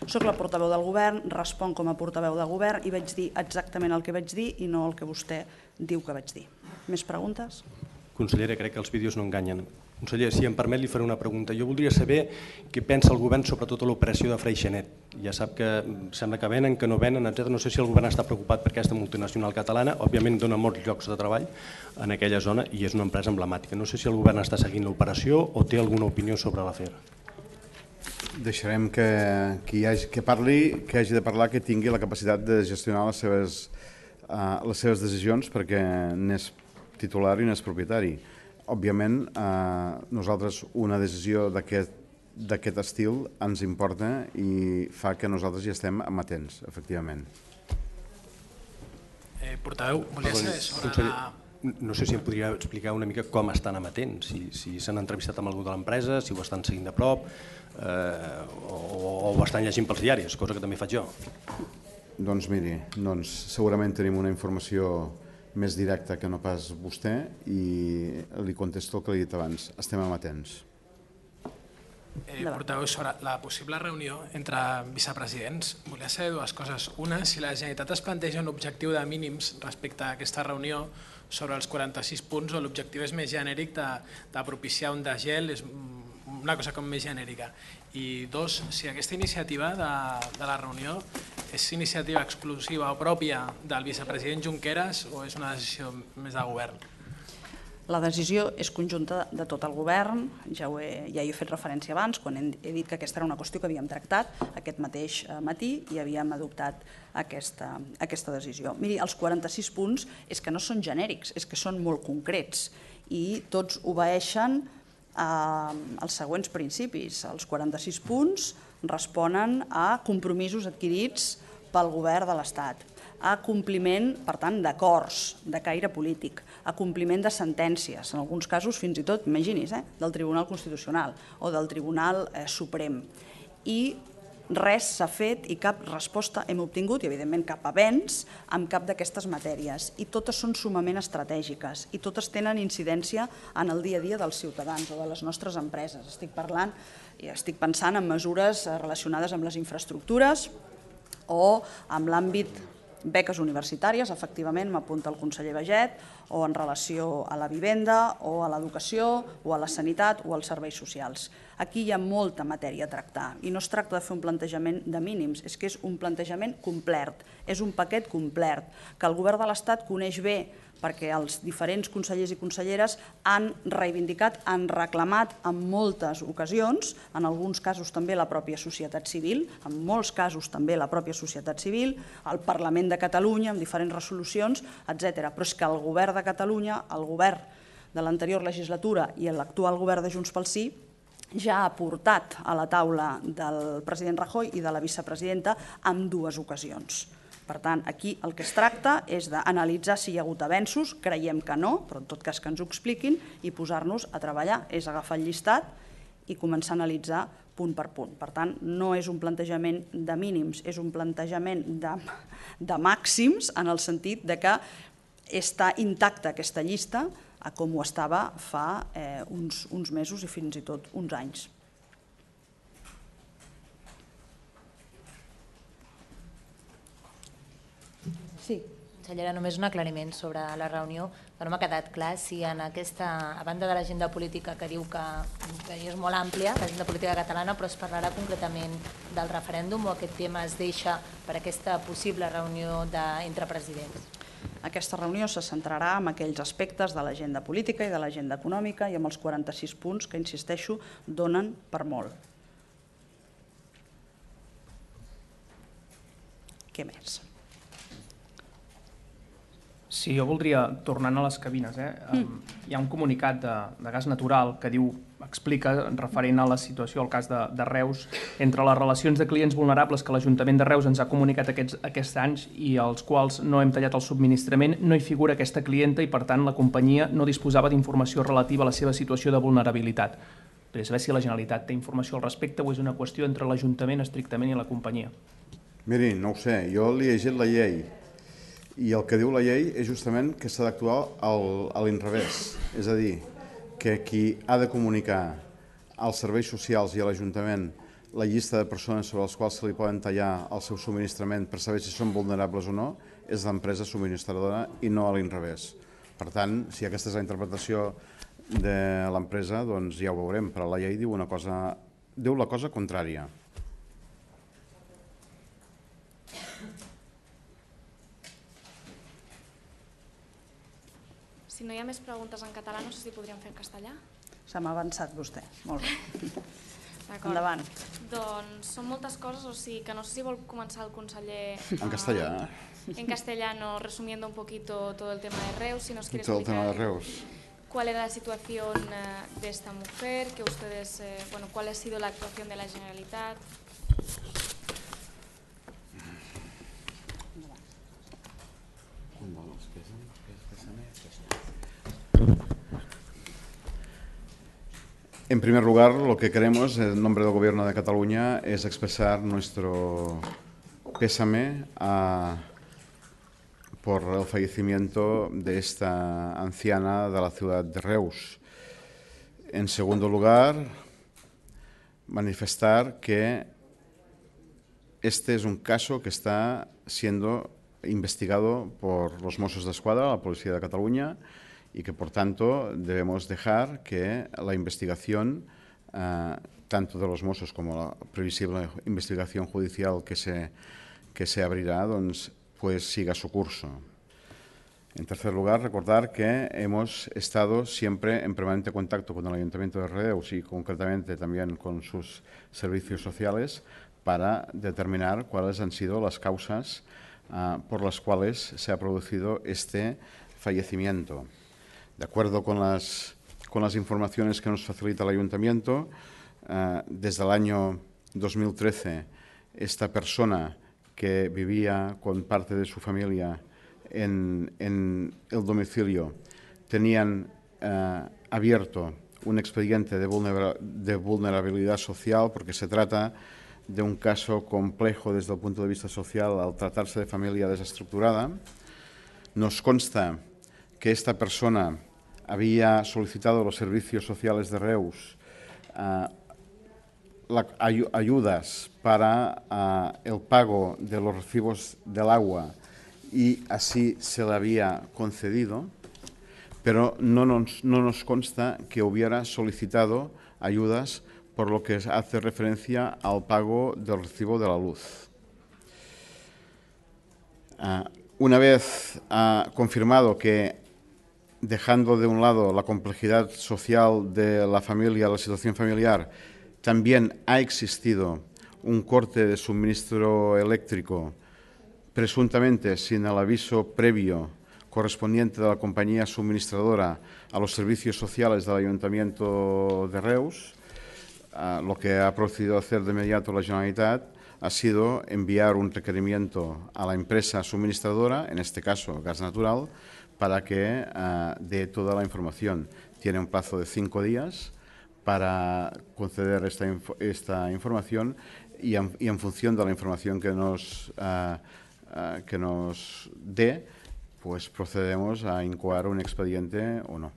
Soc la portaveu del govern, responc com a portaveu del govern i vaig dir exactament el que vaig dir i no el que vostè diu que vaig dir. Més preguntes? Consellera, crec que els vídeos no enganyen. Conseller, si em permet, li faré una pregunta. Jo voldria saber què pensa el govern sobre tota l'operació de Freixenet. Ja sap que sembla que venen, que no venen, etcètera. No sé si el govern està preocupat per aquesta multinacional catalana. Òbviament dona molts llocs de treball en aquella zona i és una empresa emblemàtica. No sé si el govern està seguint l'operació o té alguna opinió sobre l'afer. Deixarem que qui hagi, que parli, que hagi de parlar, que tingui la capacitat de gestionar les seves, uh, les seves decisions perquè n'és titular i n'és propietari. Òbviament, eh, nosaltres una decisió d'aquest estil ens importa i fa que nosaltres hi estem amatents, efectivament. Eh, portaveu, volia saber sobre conseller, la... No sé si em podria explicar una mica com estan amatents, si, si s'han entrevistat amb algú de l'empresa, si ho estan seguint de prop eh, o, o ho estan llegint pels diaris, cosa que també faig jo. Doncs miri, doncs segurament tenim una informació més directa que no pas vostè i li contesto el que li he dit abans. Estem amatents. Eh, portaveu, sobre la possible reunió entre vicepresidents, volia saber dues coses. Una, si la Generalitat es planteja un objectiu de mínims respecte a aquesta reunió sobre els quaranta-sis punts o l'objectiu és més genèric de, de propiciar un degel, és una cosa com més genèrica. I dos, si aquesta iniciativa de, de la reunió és iniciativa exclusiva o pròpia del vicepresident Junqueras o és una decisió més de govern? La decisió és conjunta de tot el govern, ja, ho he, ja hi he fet referència abans, quan he, he dit que aquesta era una qüestió que havíem tractat aquest mateix matí i havíem adoptat aquesta, aquesta decisió. Miri, els quaranta-sis punts és que no són genèrics, és que són molt concrets i tots obeeixen als següents principis. Els quaranta-sis punts responen a compromisos adquirits pel govern de l'Estat, a compliment, per tant, d'acords de caire polític, a compliment de sentències, en alguns casos fins i tot, imagini's, eh, del Tribunal Constitucional o del Tribunal eh, Suprem. I res s'ha fet i cap resposta hem obtingut, i evidentment cap avenç, amb cap d'aquestes matèries. I totes són sumament estratègiques i totes tenen incidència en el dia a dia dels ciutadans o de les nostres empreses. Estic parlant i estic pensant en mesures relacionades amb les infraestructures o amb l'àmbit beques universitàries, efectivament, m'apunta el conseller Baiget, o en relació a la vivenda, o a l'educació, o a la sanitat, o als serveis socials. Aquí hi ha molta matèria a tractar i no es tracta de fer un plantejament de mínims, és que és un plantejament complet, és un paquet complet, que el govern de l'Estat coneix bé perquè els diferents consellers i conselleres han reivindicat, han reclamat en moltes ocasions, en alguns casos també la pròpia societat civil, en molts casos també la pròpia societat civil, el Parlament de Catalunya amb diferents resolucions, etcètera. Però és que el govern de Catalunya, el govern de l'anterior legislatura i l'actual govern de Junts pel Sí ja ha portat a la taula del president Rajoy i de la vicepresidenta en dues ocasions. Per tant, aquí el que es tracta és d'analitzar si hi ha hagut avenços, creiem que no, però en tot cas que ens ho expliquin i posar-nos a treballar, és agafar el llistat i començar a analitzar punt per punt. Per tant, no és un plantejament de mínims, és un plantejament de, de màxims en el sentit de que està intacta aquesta llista a com ho estava fa eh, uns, uns mesos i fins i tot uns anys. Sí. Consellera, només un aclariment sobre la reunió, que no m'ha quedat clar si en aquesta, a banda de l'agenda política que diu que, que és molt àmplia, l'agenda política catalana, però es parlarà concretament del referèndum o aquest tema es deixa per aquesta possible reunió de, entre presidents? Aquesta reunió se centrarà en aquells aspectes de l'agenda política i de l'agenda econòmica i amb els quaranta-sis punts que, insisteixo, donen per molt. Què més? Sí, jo voldria, tornant a les cabines, eh? Hi ha un comunicat de, de gas natural que diu, explica, referent a la situació, al cas de, de Reus, entre les relacions de clients vulnerables que l'Ajuntament de Reus ens ha comunicat aquests, aquests anys i als quals no hem tallat el subministrament, no hi figura aquesta clienta i, per tant, la companyia no disposava d'informació relativa a la seva situació de vulnerabilitat. Voldria saber si la Generalitat té informació al respecte o és una qüestió entre l'Ajuntament estrictament i la companyia. Miri, no ho sé, jo li he llegit la llei i el que diu la llei és justament que s'ha d'actuar a l'inrevés, és a dir, que qui ha de comunicar als serveis socials i a l'Ajuntament la llista de persones sobre les quals se li poden tallar el seu subministrament per saber si són vulnerables o no és l'empresa subministradora i no a l'inrevés. Per tant, si aquesta és la interpretació de l'empresa, doncs ja ho veurem, però la llei diu una cosa, diu la cosa contrària. Si no hi ha més preguntes en català, no sé si podríem fer en castellà. Se m'ha avançat vostè. Molt bé. Endavant. Doncs són moltes coses, o sigui que no sé si vol començar el conseller... En castellà. En castellano, resumiendo un poquito todo el tema de Reus, si nos quiere Todo el tema de explicar Reus. cuál era la situación eh, de esta mujer, que ustedes, eh, bueno, cuál ha sido la actuación de la Generalitat. En primer lugar, lo que queremos en nombre del Gobierno de Cataluña es expresar nuestro pésame a, por el fallecimiento de esta anciana de la ciudad de Reus. En segundo lugar, manifestar que este es un caso que está siendo investigado por los Mossos d'Esquadra, la Policía de Cataluña, y que, por tanto, debemos dejar que la investigación, eh, tanto de los Mossos como la previsible investigación judicial que se, que se abrirá, doncs, pues siga su curso. En tercer lugar, recordar que hemos estado siempre en permanente contacto con el Ayuntamiento de Reus y concretamente también con sus servicios sociales para determinar cuáles han sido las causas uh, por las cuales se ha producido este fallecimiento. De acuerdo con las, con las informaciones que nos facilita el Ayuntamiento, uh, desde el año dos mil trece, esta persona que vivía con parte de su familia en, en el domicilio tenían uh, abierto un expediente de, vulnera, de vulnerabilidad social porque se trata de un caso complejo desde el punto de vista social al tratarse de familia desestructurada. Nos consta que esta persona había solicitado a los servicios sociales de Reus uh, la, ay, ayudas para uh, el pago de los recibos del agua y así se le había concedido, pero no nos, no nos consta que hubiera solicitado ayudas por lo que hace referencia al pago del recibo de la luz. Uh, una vez uh, confirmado que, dejando de un lado la complejidad social de la familia, la situación familiar, también ha existido un corte de suministro eléctrico, presuntamente sin el aviso previo correspondiente de la compañía suministradora a los servicios sociales del Ayuntamiento de Reus, uh, lo que ha procedido a hacer de inmediato la Generalitat ha sido enviar un requerimiento a la empresa suministradora, en este caso Gas Natural, para que uh, dé toda la información. Tiene un plazo de cinco días para conceder esta, inf esta información y en, y en función de la información que nos, uh, uh, que nos dé, pues procedemos a incoar un expediente o no.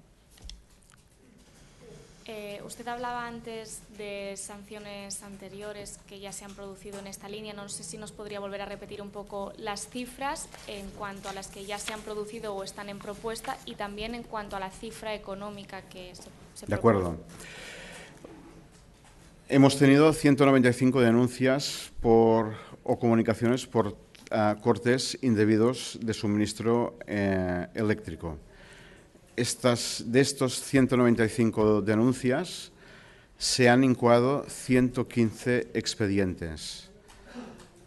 Eh, usted hablaba antes de sanciones anteriores que ya se han producido en esta línea. No sé si nos podría volver a repetir un poco las cifras en cuanto a las que ya se han producido o están en propuesta y también en cuanto a la cifra económica que se, se De acuerdo. Hemos tenido ciento noventa y cinco denuncias por, o comunicaciones por uh, cortes indebidos de suministro eh, eléctrico. Estas, de estos ciento noventa y cinco denuncias, se han incoado ciento quince expedientes.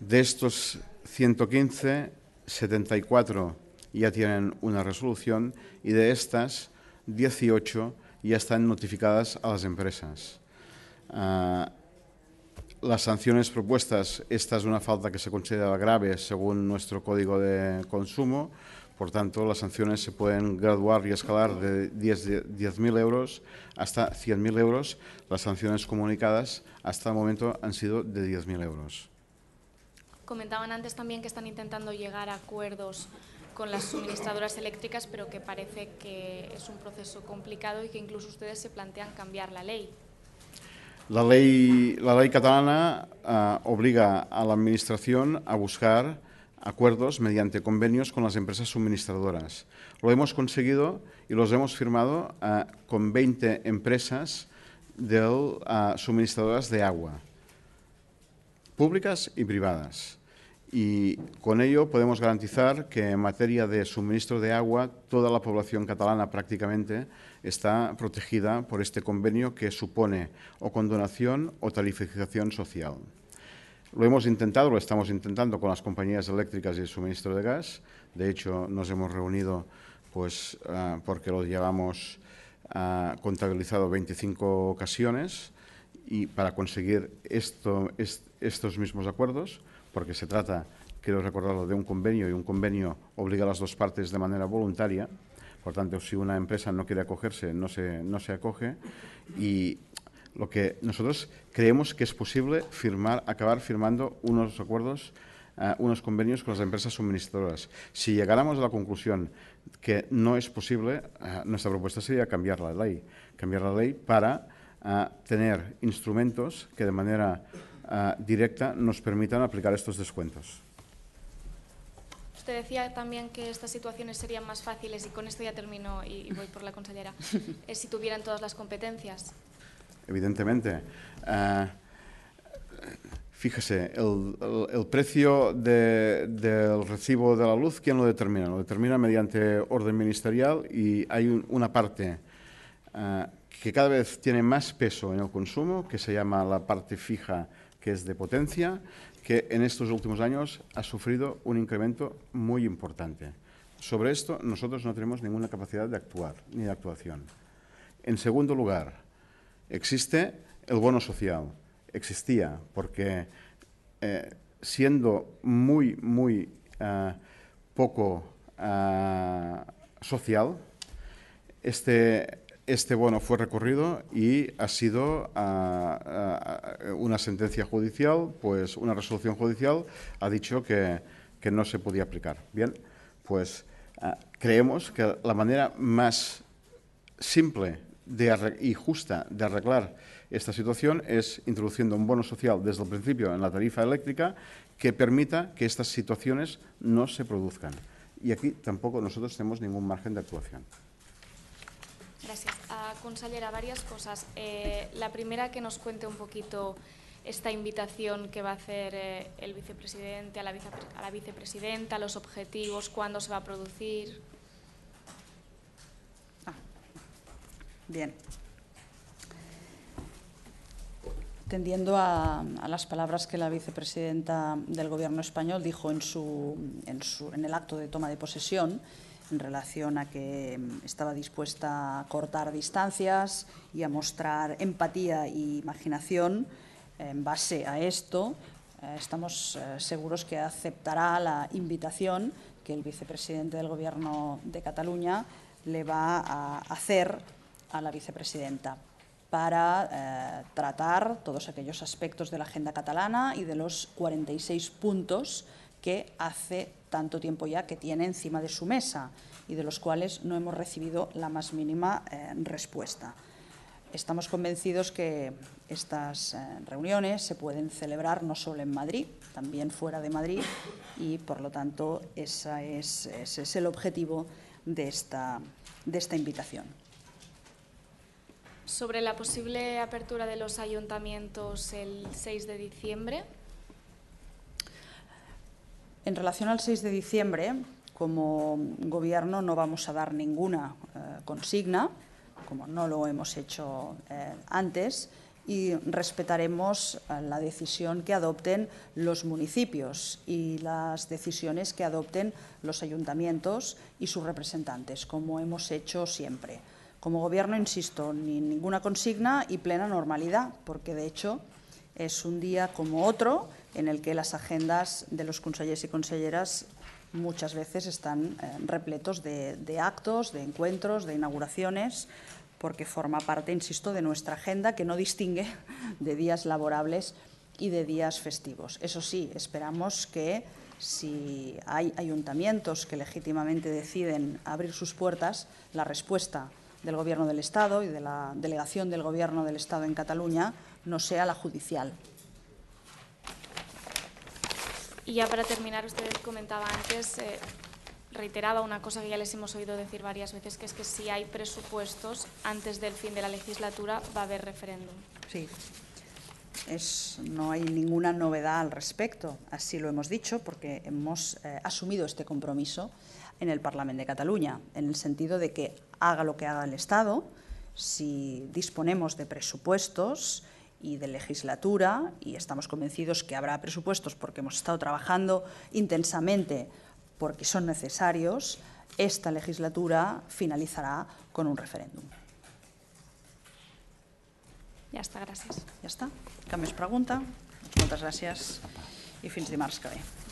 De estos ciento quince, setenta y cuatro ya tienen una resolución y de estas, dieciocho ya están notificadas a las empresas. Uh, las sanciones propuestas, esta es una falta que se considera grave según nuestro Código de Consumo, por tanto las sanciones se pueden graduar y escalar de diez mil euros hasta cien mil euros. Las sanciones comunicadas hasta el momento han sido de diez mil euros. Comentaban antes también que están intentando llegar a acuerdos con las suministradoras eléctricas, pero que parece que es un proceso complicado y que incluso ustedes se plantean cambiar la ley. La ley, la ley catalana uh, obliga a la Administración a buscar acuerdos mediante convenios con las empresas suministradoras. Lo hemos conseguido y los hemos firmado uh, con veinte empresas de uh, suministradoras de agua, públicas y privadas. Y con ello podemos garantizar que en materia de suministro de agua toda la población catalana prácticamente está protegida por este convenio que supone o condonación o tarificación social. Lo hemos intentado, lo estamos intentando con las compañías eléctricas y el suministro de gas. De hecho, nos hemos reunido pues, uh, porque lo llevamos uh, contabilizado veinticinco ocasiones y para conseguir esto, est, estos mismos acuerdos, porque se trata, quiero recordarlo, de un convenio y un convenio obliga a las dos partes de manera voluntaria. Por tanto, si una empresa no quiere acogerse, no se, no se acoge. Y lo que nosotros creemos que es posible firmar, acabar firmando unos acuerdos, uh, unos convenios con las empresas suministradoras. Si llegáramos a la conclusión que no es posible, uh, nuestra propuesta sería cambiar la ley. Cambiar la ley para uh, tener instrumentos que de manera Uh, directa nos permitan aplicar estos descuentos. Usted decía también que estas situaciones serían más fáciles, y con esto ya termino y, y voy por la consellera, es si tuvieran todas las competencias. Evidentemente. Uh, fíjese, el, el, el precio de, del recibo de la luz, ¿quién lo determina? Lo determina mediante orden ministerial y hay un, una parte uh, que cada vez tiene más peso en el consumo, que se llama la parte fija, que es de potencia, que en estos últimos años ha sufrido un incremento muy importante. Sobre esto nosotros no tenemos ninguna capacidad de actuar, ni de actuación. En segundo lugar, existe el bono social. Existía, porque eh, siendo muy, muy uh, poco uh, social, este... Este bono fue recorrido y ha sido uh, uh, una sentencia judicial, pues una resolución judicial ha dicho que, que no se podía aplicar. Bien, pues uh, creemos que la manera más simple de y justa de arreglar esta situación es introduciendo un bono social desde el principio en la tarifa eléctrica que permita que estas situaciones no se produzcan. Y aquí tampoco nosotros tenemos ningún margen de actuación. Gracias. Uh, consellera, varias cosas. Eh, la primera, que nos cuente un poquito esta invitación que va a hacer eh, el vicepresidente a la, vice, a la vicepresidenta, los objetivos, cuándo se va a producir. Ah, bien. Atendiendo a, a las palabras que la vicepresidenta del Gobierno español dijo en, su, en, su, en el acto de toma de posesión, en relación a que estaba dispuesta a cortar distancias y a mostrar empatía e imaginación. En base a esto, eh, estamos eh, seguros que aceptará la invitación que el vicepresidente del Gobierno de Cataluña le va a hacer a la vicepresidenta para eh, tratar todos aquellos aspectos de la agenda catalana y de los cuarenta y seis puntos que hace tanto tiempo ya que tiene encima de su mesa y de los cuales no hemos recibido la más mínima eh, respuesta. Estamos convencidos que estas eh, reuniones se pueden celebrar no solo en Madrid, también fuera de Madrid y, por lo tanto, esa es, ese es el objetivo de esta, de esta invitación. Sobre la posible apertura de los ayuntamientos el seis de diciembre. En relación al seis de diciembre, como Gobierno no vamos a dar ninguna eh, consigna, como no lo hemos hecho eh, antes, y respetaremos eh, la decisión que adopten los municipios y las decisiones que adopten los ayuntamientos y sus representantes, como hemos hecho siempre. Como Gobierno, insisto, ni ninguna consigna y plena normalidad, porque de hecho es un día como otro en el que las agendas de los consellers y conselleras muchas veces están eh, repletos de, de actos, de encuentros, de inauguraciones, porque forma parte, insisto, de nuestra agenda que no distingue de días laborables y de días festivos. Eso sí, esperamos que si hay ayuntamientos que legítimamente deciden abrir sus puertas, la respuesta del Gobierno del Estado y de la delegación del Gobierno del Estado en Cataluña no sea la judicial. Y ya para terminar, usted comentaba antes, eh, reiteraba una cosa que ya les hemos oído decir varias veces, que es que si hay presupuestos antes del fin de la legislatura va a haber referéndum. Sí, es, no hay ninguna novedad al respecto, así lo hemos dicho, porque hemos eh, asumido este compromiso en el Parlamento de Cataluña, en el sentido de que haga lo que haga el Estado, si disponemos de presupuestos y de legislatura, y estamos convencidos que habrá presupuestos porque hemos estado trabajando intensamente porque son necesarios, esta legislatura finalizará con un referéndum. Ja està, gràcies. Ja està. Cap més pregunta? Moltes gràcies i fins dimarts que ve.